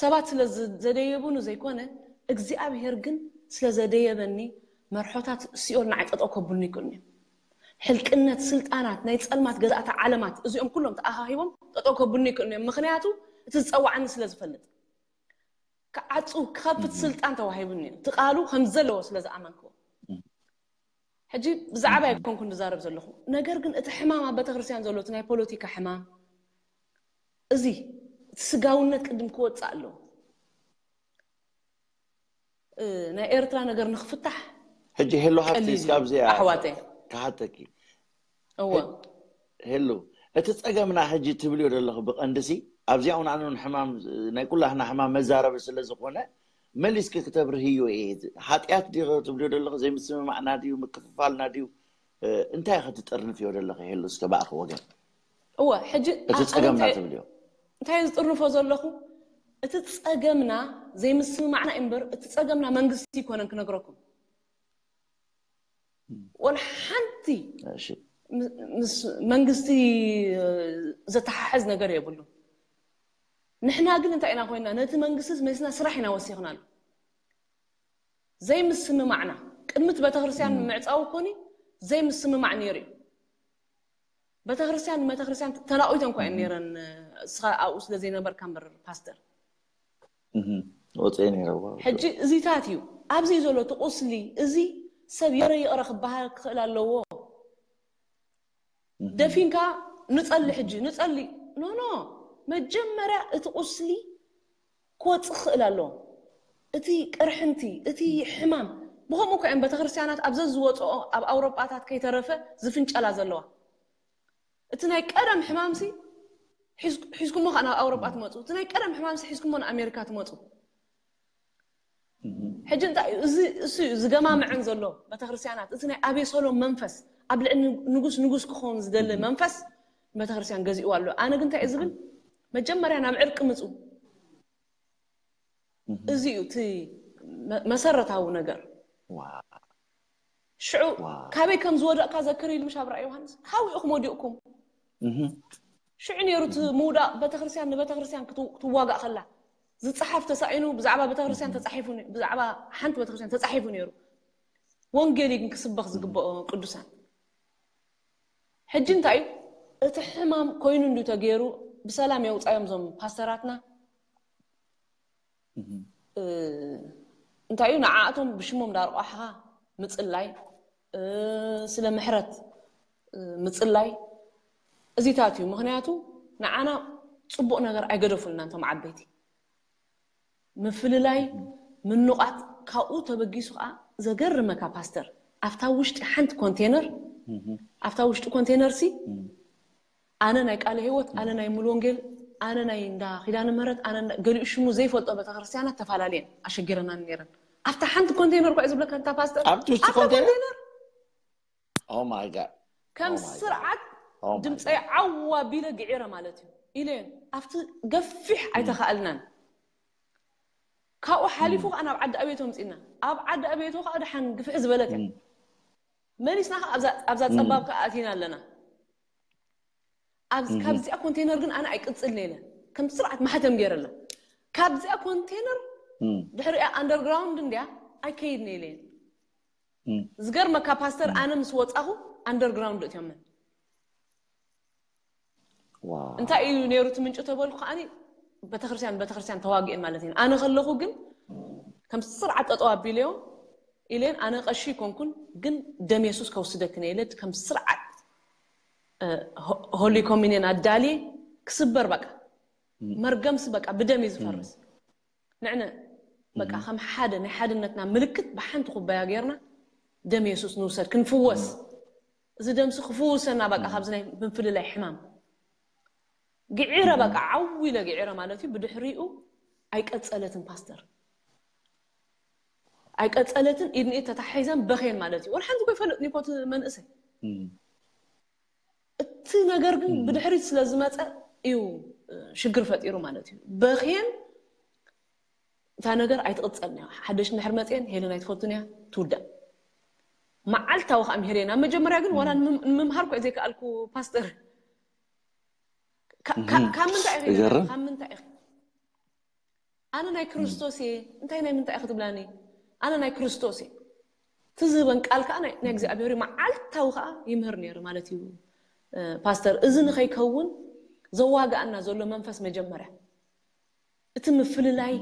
ሰባት ስለ ዝ-፣ ዘደየቡኒ ዘይኮነ፣ እግዚኣብሔር ግን ስለ ዘደየበኒ መርሖታት ሲኦል ንዓይ ጠጠው ከብሉኒ ይክእሉኒ እዮም። ሕልቅነት፣ ስልጣናት፣ ናይ ጸልማት ገዛእቲ ዓለማት፣ እዚኦም ኩሎም ተኣኻኺቦም ጠጠው ከብሉኒ ይክእሉኒ እዮም። ምክንያቱ እቲ ዝጸዋዓኒ ስለ ዝፈልጥ። ክዓጹ፣ ክኸፍት ስልጣን ተዋሂቡኒ እዩ። እቲ ቃሉ ከም ዘለዎ ስለ ዝኣመንክዎ። ሕጂ ብዛዕባ ኣይኮንኩን ዝዛረብ ዘለኹ። ነገር ግን እቲ ሕማም ኣብ ቤተክርስትያን ዘሎ፣ እቲ ናይ ፖለቲካ ሕማም፣ እዚ እቲ ስጋውነት ቅድም ክወጽእ ኣለዎ። እ፣ ናይ ኤርትራ ነገር ንክፍታሕ ሕጂ ሄሎ ሃብቲ ቀሊል እስከ እዩ፣ ኣብዚኣ ኣሕዋተይ። ክሓተኪ። እወ። ሄሎ፣ እቲ ጸገምና ሕጂ ትብልዮ ዘለኹ ብቐንድሲ ኣብዚኣ እውን ኣነ እውን ሕማም፣ ናይ ኩላህና ሕማም መዛረቢ ስለ ዝኾነ መሊስኪ ክተብርህዮ እየ። ሓጢኣት ድዩ ትብልዮ ዘለኹ? ዘይምስምማዕና ድዩ? ምክፍፋልና ድዩ? እ፣ እንታይ ኢኺ ትጥርንፍዮ ዘለኺ? ሄሎ፣ እስከ ብኣኺ ወገን። እወ ሕጂ እቲ ኣነ ጸገምና እንታይ- ትብልዮ? እንታይ ዝጥርንፎ ዘለኹ? እቲ ጸገምና ዘይምስምማዕና እምበር እቲ ጸገምና መንግስቲ ይኮነን ክነግረኩም። ወላ ሓንቲ እሺ ምስ መንግስቲ ዘተሓሕዝ ነገር የብሉ። ንሕና ግን እንታይ ኢና ኮይና? ነቲ መንግስቲ መሲና ስራሕ ኢና ወሲኽናሉ። ዘይምስምማዕና ቅድሚ እቲ ቤተክርስትያን ምዕፃው ኮኒ ዘይምስምማዕ ነይሩ እዩ። ቤተክርስትያን ቤተክርስትያን ተናቑተን እኳ እየን ነይረን። እስኻ ኣብኡ ስለ ዘይነበርካ እምበር ፓስተር ወፅኤ ነይረዎ። ሕጂ እዚታት እዩ ኣብዚ ዘሎ እቲ ቁስሊ። እዚ ሰብ የረ ይቕረ ክበሃል ክኽእል ኣለዎ። ደፊንካ ንጸሊ ሕጂ ንጸሊ ኖ ኖ መጀመርያ እቲ ቁስሊ ክወፅእ ክኽእል ኣለዎ። እቲ ቅርሕንቲ እቲ ሕማም ብኸምኡ እኮ እየን ቤተክርስትያናት ኣብ ዘዝወፅኦ ኣብ ኣውሮጳታት ከይተረፈ ዝፍንጨላ ዘለዋ። እቲ ናይ ቀደም ሕማምሲ ሒዝኩሞ ከዓ ናብ ኣውሮጳ ትመፁ። እቲ ናይ ቀደም ሕማምሲ ሒዝኩሞ ንኣሜሪካ ትመፁ። ሕጂ እንታይ እዩ እዚ እሱ እዩ ዝገማምዐን ዘሎ ቤተክርስትያናት። እቲ ናይ ኣቤሰሎም መንፈስ ኣብ ልዕሊ ንጉስ ንጉስ ክኸውን ዝደሊ መንፈስ ቤተክርስትያን ገዚእዋ ኣሎ። ኣነ ግን እንታይ እየ ዝብል መጀመርያ ናብ ዕርቂ ምፁ። እዚ እዩ እቲ መሰረታዊ ነገር። ሽዑ ካበይ ከም ዝወደቕካ ዘክር ኢሉ ምሽ ኣብራ ዮሃንስ ሓዊእኹም ወዲቕኩም። ሽዑ ነይሩ እቲ ምውዳቕ ቤተክርስትያን ንቤተክርስትያን ክትዋጋእ ከላ ዝፀሓፍ ተሳኢኑ ብዛዕባ ቤተክርስትያን ተፃሒፉ ብዛዕባ ሓንቲ ቤተክርስትያን ተፃሒፉ ነይሩ። ወንጌል ግን ክስበኽ ዝግበኦ ቅዱሳን። ሕጂ እንታይ እዩ እቲ ሕማም ኮይኑ እንዱ ተገይሩ ብሰላም የውፃዮም ዞም ፓስተራትና። እንታይ እዩ ንዓኣቶም ብሽሞም ዳርቋሕኻ ምፅላይ ስለ ምሕረት ምፅላይ እዚታት እዩ። ምክንያቱ ንዓና ፅቡቕ ነገር ኣይገደፉልና እንቶም ዓበይቲ ምፍልላይ ምንቋት ካብኡ ተበጊሱ ከዓ ዘገርመካ ፓስተር ኣብታ ውሽጢ ሓንቲ ኮንቴነር ኣብታ ውሽጢ ኮንቴነር ሲ ኣነ ናይ ቃለ ህይወት ኣነ ናይ ሙሉ ወንጌል ኣነ ናይ እንዳ ኪዳነ ምህረት ኣነ ገሊኡ ሽሙ ዘይፈልጦ ቤተክርስትያናት ተፈላለየን ኣሸጊረናን ነይረን። ኣብታ ሓንቲ ኮንቴነር ኳ ዝብለካ እንታ ፓስተር ኣብቲ ውሽጢ ኣብታ ኮንቴነር? ኮንቴነር Oh my God. ከም Oh my God. ስርዓት Oh my ድምፀይ ዓዋ ቢለ ግዒረ ማለት እዩ ኢለን ኣብቲ ገፊሕ ኣይተኻእልናን። ካብኡ ሓሊፉ ከዓ ናብ ዓዲ ኣቤቶ ምፅና ኣብ ዓዲ ኣቤቶ ከዓ ድሓን ግፍሕ ዝበለት እያ። መሊስና ከዓ ኣብዛ- ኣብዛ ፀባብ ከዓ ኣቲና ኣለና። ኣብዚ- ካብዚኣ ኮንቴነር ግን ኣነ ኣይቅፅል ነይለ ከም ስርዓት ማሕተም ገይረላ ካብዚኣ ኮንቴነር ድሕሪኣ ኣንደርግራውንድ እንዲያ ኣይከይድ ነይለ። ዝገርመካ ፓስተር ኣነ ምስ ወፃኹ ኣንደርግራውንድ እትዮመን Wow. እንታይ እዩ ነይሩ እቲ ምንጭ ተበልኩ ከዓኒ ቤተክርስትያን ቤተክርስትያን ተዋጊአን ማለት እዩ። ኣነ ከለኹ ግን ከም ስርዓት ጠጠው ኣቢለዮም ኢለን ኣነ ቀሺ ይኮንኩን ግን ደም የሱስ ከውስደክን ኢለ ከም ስርዓት ሆሊ ኮሚኒየን ኣዳልየ ክስበር በቃ መርገምሲ በቃ ብደም እዩ ዝፈርስ። ንዕነ በቃ ከም ሓደ ናይ ሓድነትና ምልክት ብሓንቲ ኩባያ ገይርና ደም የሱስ ንውሰድ ክንፍወስ። እዚ ደምሲ ክፍውሰና በቃ ካብዚ ናይ ምፍልላይ ሕማም ግዒረ በቃ ዓው ኢለ ግዒረ ማለት እዩ። ብድሕሪኡ ኣይቀፀለትን ፓስተር ኣይቀፀለትን ኢድንኢድ ተታሒዘን በኽየን ማለት እዩ። ወላ ሓንቲ ኮ ይፈልጥ ኒኮት መንእሰይ እቲ ነገር ግን ብድሕሪት ስለ ዝመፀ እዩ ሽግር ፈጢሩ ማለት እዩ። በኽየን እታ ነገር ኣይትቕፀልን እያ። ሓደሽ እንድሕር መፅየን ሄለን ኣይትፈቱን እያ ትውዳእ። መዓልታዊ ከዓ ምሄደን ኣብ መጀመርያ ግን ዋላ ንምምሃር ኮ ዘይከኣልኩ ፓስተር ካብ ምንታይ ኢኺ ካብ ምንታይ ኢኺ ኣነ ናይ ክርስቶስ እየ እንታይ ናይ ምንታይ ኢኺ ትብላኒ ኣነ ናይ ክርስቶስ እየ ትዝህበን ቃል ከዓ ናይ እግዚኣብሔር መዓልታዊ ከዓ ይምህር ነይሩ ማለት እዩ። ፓስተር እዚ ንኸይከውን ዘዋግኣና ዘሎ መንፈስ መጀመርያ እቲ ምፍልላይ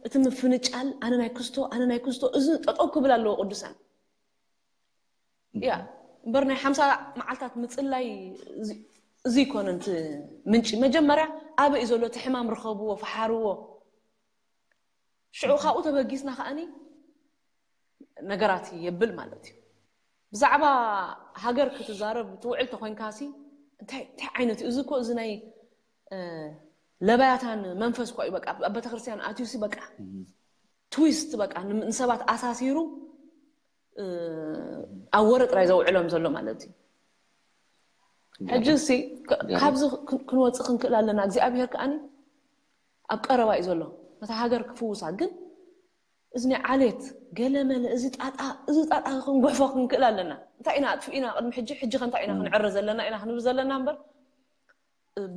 እቲ ምፍንጫል ኣነ ናይ ክስቶ ኣነ ናይ ክስቶ እዚ ጠጠው ክብል ኣለዎ ቅዱሳን እያ እምበር ናይ ሓምሳ መዓልታት ምፅላይ እዚ ይኮነ ንቲ ምንጪ መጀመርያ ኣበይ ዘሎ እቲ ሕማም ርከብዎ ፈሓርዎ ሽዑ ካብኡ ተበጊስና ከዓኒ ነገራት የብል ማለት እዩ። ብዛዕባ ሃገር ክትዛረብ ትውዕል ተኮይንካሲ እንታይ ዓይነት እዩ እዚ እኮ እዚ ናይ ለባያታን መንፈስ እኮ እዩ በቃ ኣብ ቤተክርስትያን ኣትዩሲ በቃ ትዊስት በቃ ንሰባት ኣሳሲሩ ኣብ ወረ ጥራይ ዘውዕሎም ዘሎ ማለት እዩ። ሕጂ ሲ ካብዚ ክንወፅእ ክንክእል ኣለና። እግዚኣብሔር ከዓኒ ኣብ ቀረባ እዩ ዘሎ ነታ ሃገር ክፍውሳ። ግን እዚ ናይ ዓሌት ገለመለ፣ እዚ ጣጣ እዚ ጣጣ ክንጉሕፎ ክንክእል ኣለና። እንታይ ኢና ኣጥፊእና ቅድሚ ሕጂ? ሕጂ ከ እንታይ ኢና ክንዕረ ዘለና ኢና ክንብል ዘለና እምበር፣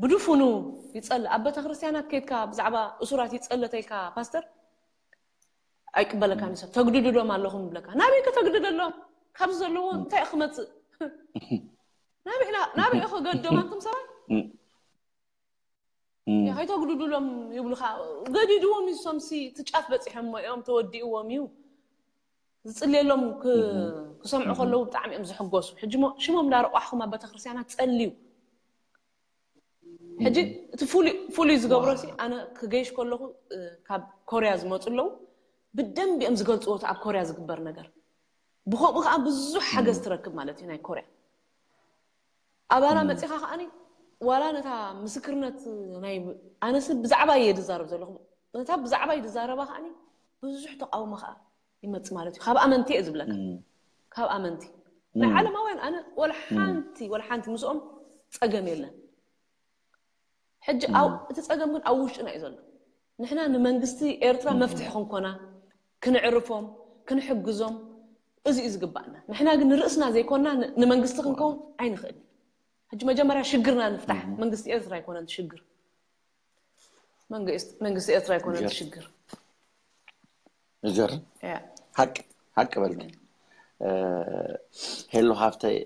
ብድፉኑ ይፀልእ። ኣብ ቤተክርስትያናት ከይድካ ብዛዕባ እሱራት ይፀለተልካ ፓስተር ኣይቅበለካን እዩ ሰብ። ተግድድሎም ኣለኹም ይብለካ። ናበይ ከተግድደሎም? ካብዚ ዘለዎ እንታይ ክመፅእ? ናበይ ከገድዶም ኣንቱም ሰባት? ከይተግድድሎም ይብሉካ። ገዲድዎም እዩ። ሶምሲ ትጫፍ በፂሖም እዮም፣ ተወዲእዎም እዩ። ዝፅልየሎም ክሰምዑ ከለዉ ብጣዕሚ እዮም ዝሕጎሱ። ሕጂ ሽሞም እንዳረቋሕኩም ኣብ ቤተክርስትያናት ፀልዩ። ሕጂ እቲ ፍሉይ ዝገብሮ ሲ፣ ኣነ ክገይሽ ከለኹ ካብ ኮርያ ዝመፁ ኣለዉ፣ ብደንብ እዮም ዝገልፅዎ እቲ ኣብ ኮርያ ዝግበር ነገር። ብከምኡ ከዓ ብዙሕ ሓገዝ ትረክብ ማለት እዩ ናይ ኮርያ። ኣባና መፂኻ ከዓኒ ዋላ ነታ ምስክርነት ናይ ኣነስ ብዛዕባ እየ ዝዛረብ ዘለኹ፣ ነታ ብዛዕባ እዩ ዝዛረባ ከዓኒ ብዙሕ ተቃውሞ ከዓ ይመፅ ማለት እዩ። ካብ ኣመንቲ እየ ዝብለካ፣ ካብ ኣመንቲ። ናይ ዓለማውያን ኣነ ወላ ሓንቲ ወላ ሓንቲ ምስኦም ፀገም የለን። ሕጂ እቲ ፀገም ግን ኣብ ውሽጥና እዩ ዘሎ። ንሕና ንመንግስቲ ኤርትራ መፍትሒ ክንኮና፣ ክንዕርፎም፣ ክንሕግዞም፣ እዚ እዩ ዝግባእና። ንሕና ግን ንርእስና ዘይኮና ንመንግስቲ ክንከውን ኣይንኽእል። ሕጂ መጀመርያ ሽግርና ንፍታሕ። መንግስቲ ኤርትራ ኣይኮነን ሽግር። መንግስቲ ኤርትራ ኣይኮነን ሽግር። ይገርም። ሓቂ ሓቂ በልኪ። ሄሎ ሃፍተይ፣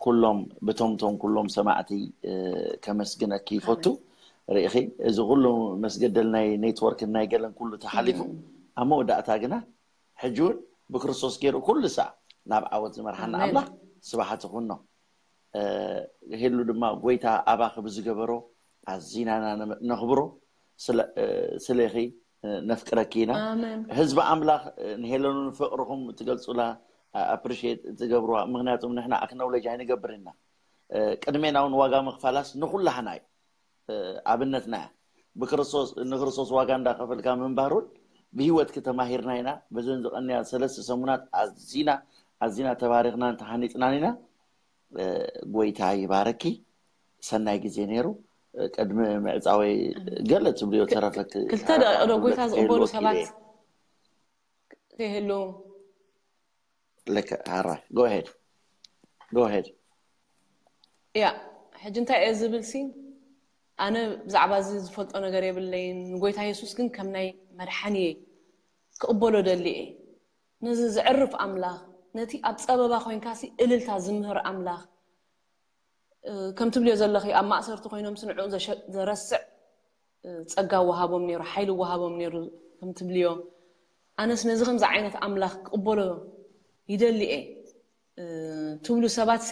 ኩሎም ብቶምቶም ኩሎም ሰማዕቲ ከመስግነኪ ይፈቱ። ርኢኺ፣ እዚ ኩሉ መስገደል ናይ ኔትወርክን ናይ ገለን ኩሉ ተሓሊፉ፣ ኣብ መወዳእታ ግና ሕጂ እውን ብክርስቶስ ገይሩ ኩሉ ሳዕ ናብ ዓወት ዝመርሓና ኣምላኽ ስብሓት ይኹኖ። ሄሉ ድማ ጎይታ ኣባኺ ብዝገበሮ ኣዚናና ነኽብሮ። ስለኺ ነፍቅረኪ ኢና። ህዝቢ ኣምላኽ፣ ንሄለኑ ንፍቕርኹም ትገልጹላ፣ ኣፕሪሼት ትገብርዋ። ምክንያቱም ንሕና ኣክኖውለጅ ኣይንገብር ኢና። ቅድሜና እውን ዋጋ ምኽፋላስ ንኹላህና እዩ። ኣብነትና እያ። ብክርስቶስ ንክርስቶስ ዋጋ እንዳኸፈልካ ምንባር እውን ብህይወትኪ ተማሂርና ኢና። በዘን ዝቐንያ ሰለስተ ሰሙናት ኣዚና ኣዚና ተባሪኽናን ተሃኒፅናን ኢና። ጎይታ ይባረኪ። ሰናይ ግዜ ነይሩ። ቅድሚ ምዕፃወይ ገለ ትብልዮ ተረፈክ? ክልተ ደቂቕ ዶ ጎይታ ዝቕበሉ ሰባት ከይህሉ? ልክ፣ ሃራይ፣ ጎ ሄድ፣ ጎ ሄድ። ያ፣ ሕጂ እንታይ እየ ዝብል ሲ፣ ኣነ ብዛዕባ እዚ ዝፈልጦ ነገር የብለይን። ንጎይታ የሱስ ግን ከም ናይ መድሓኒየይ ክቕበሎ ደሊ እየ። ነዚ ዘዕርፍ ኣምላኽ፣ ነቲ ኣብ ጸበባ ኮይንካ ሲ እልልታ ዝምህር ኣምላኽ፣ ከም ትብልዮ ዘለኺ ኣብ ማእሰርቲ ኮይኖም ሲ ንዕኡ ዘሸ-፣ ዘረስዕ ጸጋ ወሃቦም ነይሩ፣ ሓይሊ ወሃቦም ነይሩ ከም ትብልዮ። ኣነስ ነዚ ከምዚ ዓይነት ኣምላኽ ክቕበሎ ይደሊ እየ ትብሉ ሰባት ሲ፣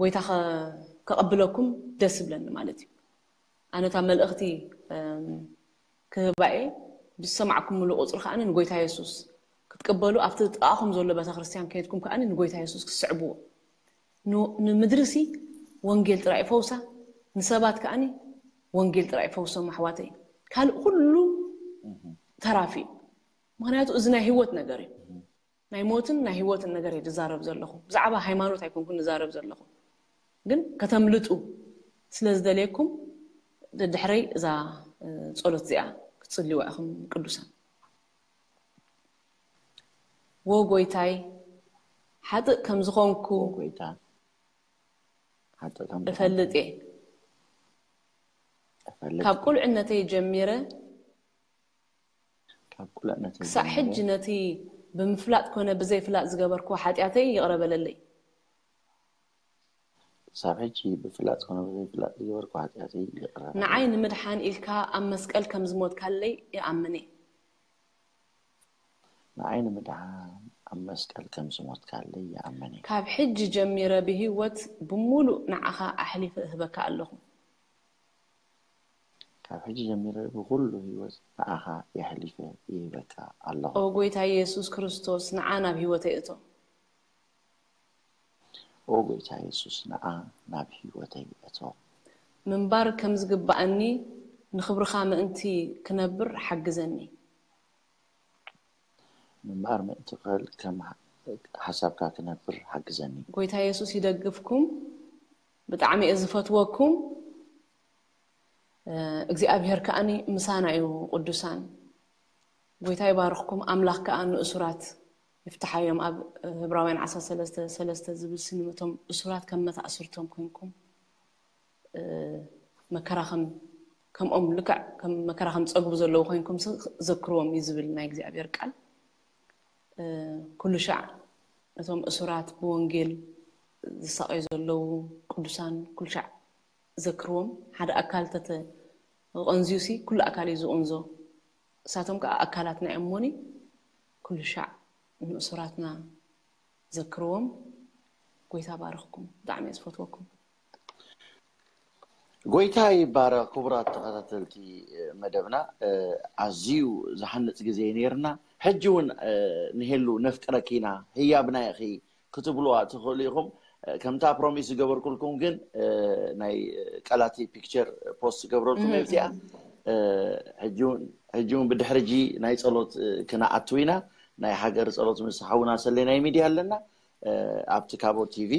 ጎይታ ከ-፣ ከቐብለኩም ደስ ይብለኒ ማለት እዩ። ኣነ እታ መልእኽቲ ክህባ እየ። ብዝሰማዕኩምሉ ቁፅሪ ከኣ ንጎይታ የሱስ ክትቅበሉ፣ ኣብቲ ጥቓኹም ዘሎ ቤተክርስትያን ከይድኩም ከኣ ንጎይታ የሱስ ክትስዕብዎ። ን-፣ ንምድሪ ሲ ወንጌል ጥራይ ፈውሳ፣ ንሰባት ከኣ ወንጌል ጥራይ ፈውሶም ኣሕዋተይ። ካልእ ኩሉ ተራፊ እዩ። ምክንያቱ እዚ ናይ ህይወት ነገር እዩ። ናይ ሞትን ናይ ህይወትን ነገር እየ ዝዛረብ ዘለኹ። ብዛዕባ ሃይማኖት ኣይኮንኩን ዝዛረብ ዘለኹ። ግን ከተምልጡ ስለ ዝደልየኩም ደድሕረይ እዛ፣ እ፣ ጸሎት እዚኣ ክትጽልይዋ ኢኹም ቅዱሳን። ወ ጎይታይ፣ ሓጥእ ከም ዝኾንኩ ጎይታ፣ ሓጥእ ከም ዝኾንኩ እፈልጥ እየ። እፈልጥ። ካብ ቁልዕነተይ ጀሚረ ካብ ቁልዕነተይ ክሳዕ ጀሚረ ሕጂ ነቲ ብምፍላጥ ኮነ ብዘይፍላጥ ዝገበርኩዎ ሓጢኣተይ ይቕረ በለለይ። ክሳብ ሕጂ ብፍላጥ ኮነ ብዘይፍላጥ ዝገበርኩ ሓጢኣተይ ይቕረ በለለይ። ንዓይ ንምድሓን ኢልካ ኣብ መስቀል ከም ዝሞትካለይ ይኣምን እየ። ንዓይ ንምድሓን ኣብ መስቀል ከም ዝሞትካለይ ይኣምን እየ። ካብ ሕጂ ጀሚረ ብህይወት ብምሉእ ንዓኻ ኣሕሊፈ እህበካ ኣለኹ። ካብ ሕጂ ጀሚረ ብኹሉ ህይወት ንዓኻ የሕሊፈ ይህበካ ኣለኹ። ኦ ጎይታ የሱስ ክርስቶስ፣ ንዓ ናብ ህይወተይ እቶ። ኦ ጎይታ የሱስ፣ ንዓ ናብ ህይወተይ እቶ። ምንባር ከም ዝግባኣኒ ንኽብርኻ ምእንቲ ክነብር ሓግዘኒ። ምንባር ምእንቲ ክኽእል ከም ሓሳብካ ክነብር ሓግዘኒ። ጎይታ የሱስ ይደግፍኩም። ብጣዕሚ እየ ዝፈትወኩም። እግዚኣብሔር ከኣኒ ምሳና እዩ። ቅዱሳን፣ ጎይታ ይባርኽኩም። ኣምላኽ ከኣ ንእሱራት ይፍትሓዮም። ኣብ ህብራውያን ዓሰርተ ሰለስተ ሰለስተ ዝብል ስኒ ነቶም እሱራት ከም መታእስርቶም ኮንኩም መከራ ከም ከምኦም ልክዕ ከም መከራ ከም ጸግቡ ዘለዉ ኮንኩም ዘክርዎም እዩ ዝብል ናይ እግዚኣብሔር ቃል። ኩሉ ሻዕ ነቶም እሱራት ብወንጌል ዝሳቀዩ ዘለዉ ቅዱሳን ኩሉ ሻዕ ዘክርዎም። ሓደ ኣካል ተተቐንዝዩ ሲ ኩሉ ኣካል እዩ ዝቕንዞ። እሳቶም ከዓ ኣካላትና እዮም እሞኒ ኩሉ ሻዕ ንእሱራትና ዘክርዎም። ጎይታ ባርኽኩም። ብጣዕሚ እየ ዝፈትወኩም። ጎይታ ይባረኽ። ክቡራት ተኸታተልቲ መደብና፣ ኣዝዩ ዝሃንፅ ግዜ ነይርና። ሕጂ እውን ንሄሉ ነፍቅረኪ ኢና፣ ህያብና ኢኺ ክትብልዋ ትኽእሉ ኢኹም። ከምታ ፕሮሚስ ዝገበርኩልኩም ግን ናይ ቀላቲ ፒክቸር ፖስት ዝገብረልኩም እብዚኣ። ሕጂ እውን ብድሕሪ ጂ ናይ ፀሎት ክነኣቱ ኢና። ናይ ሃገር ፀሎት ምስ ሓውና ሰሌናይ ሚድያ ኣለና። ኣብቲ ካቦ ቲቪ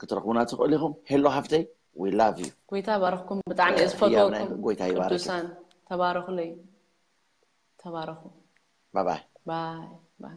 ክትረኽቡና ትኽእሉ ኢኹም። ሄሎ ሃፍተይ፣ we love you። ጎይታ ባረኽኩም። ብጣዕሚ እየ ዝፈትወኩም። ጎይታ ይባርክ። ቅዱሳን ተባረኹለይ። ተባረኹ። ባይ ባይ። ባይ ባይ።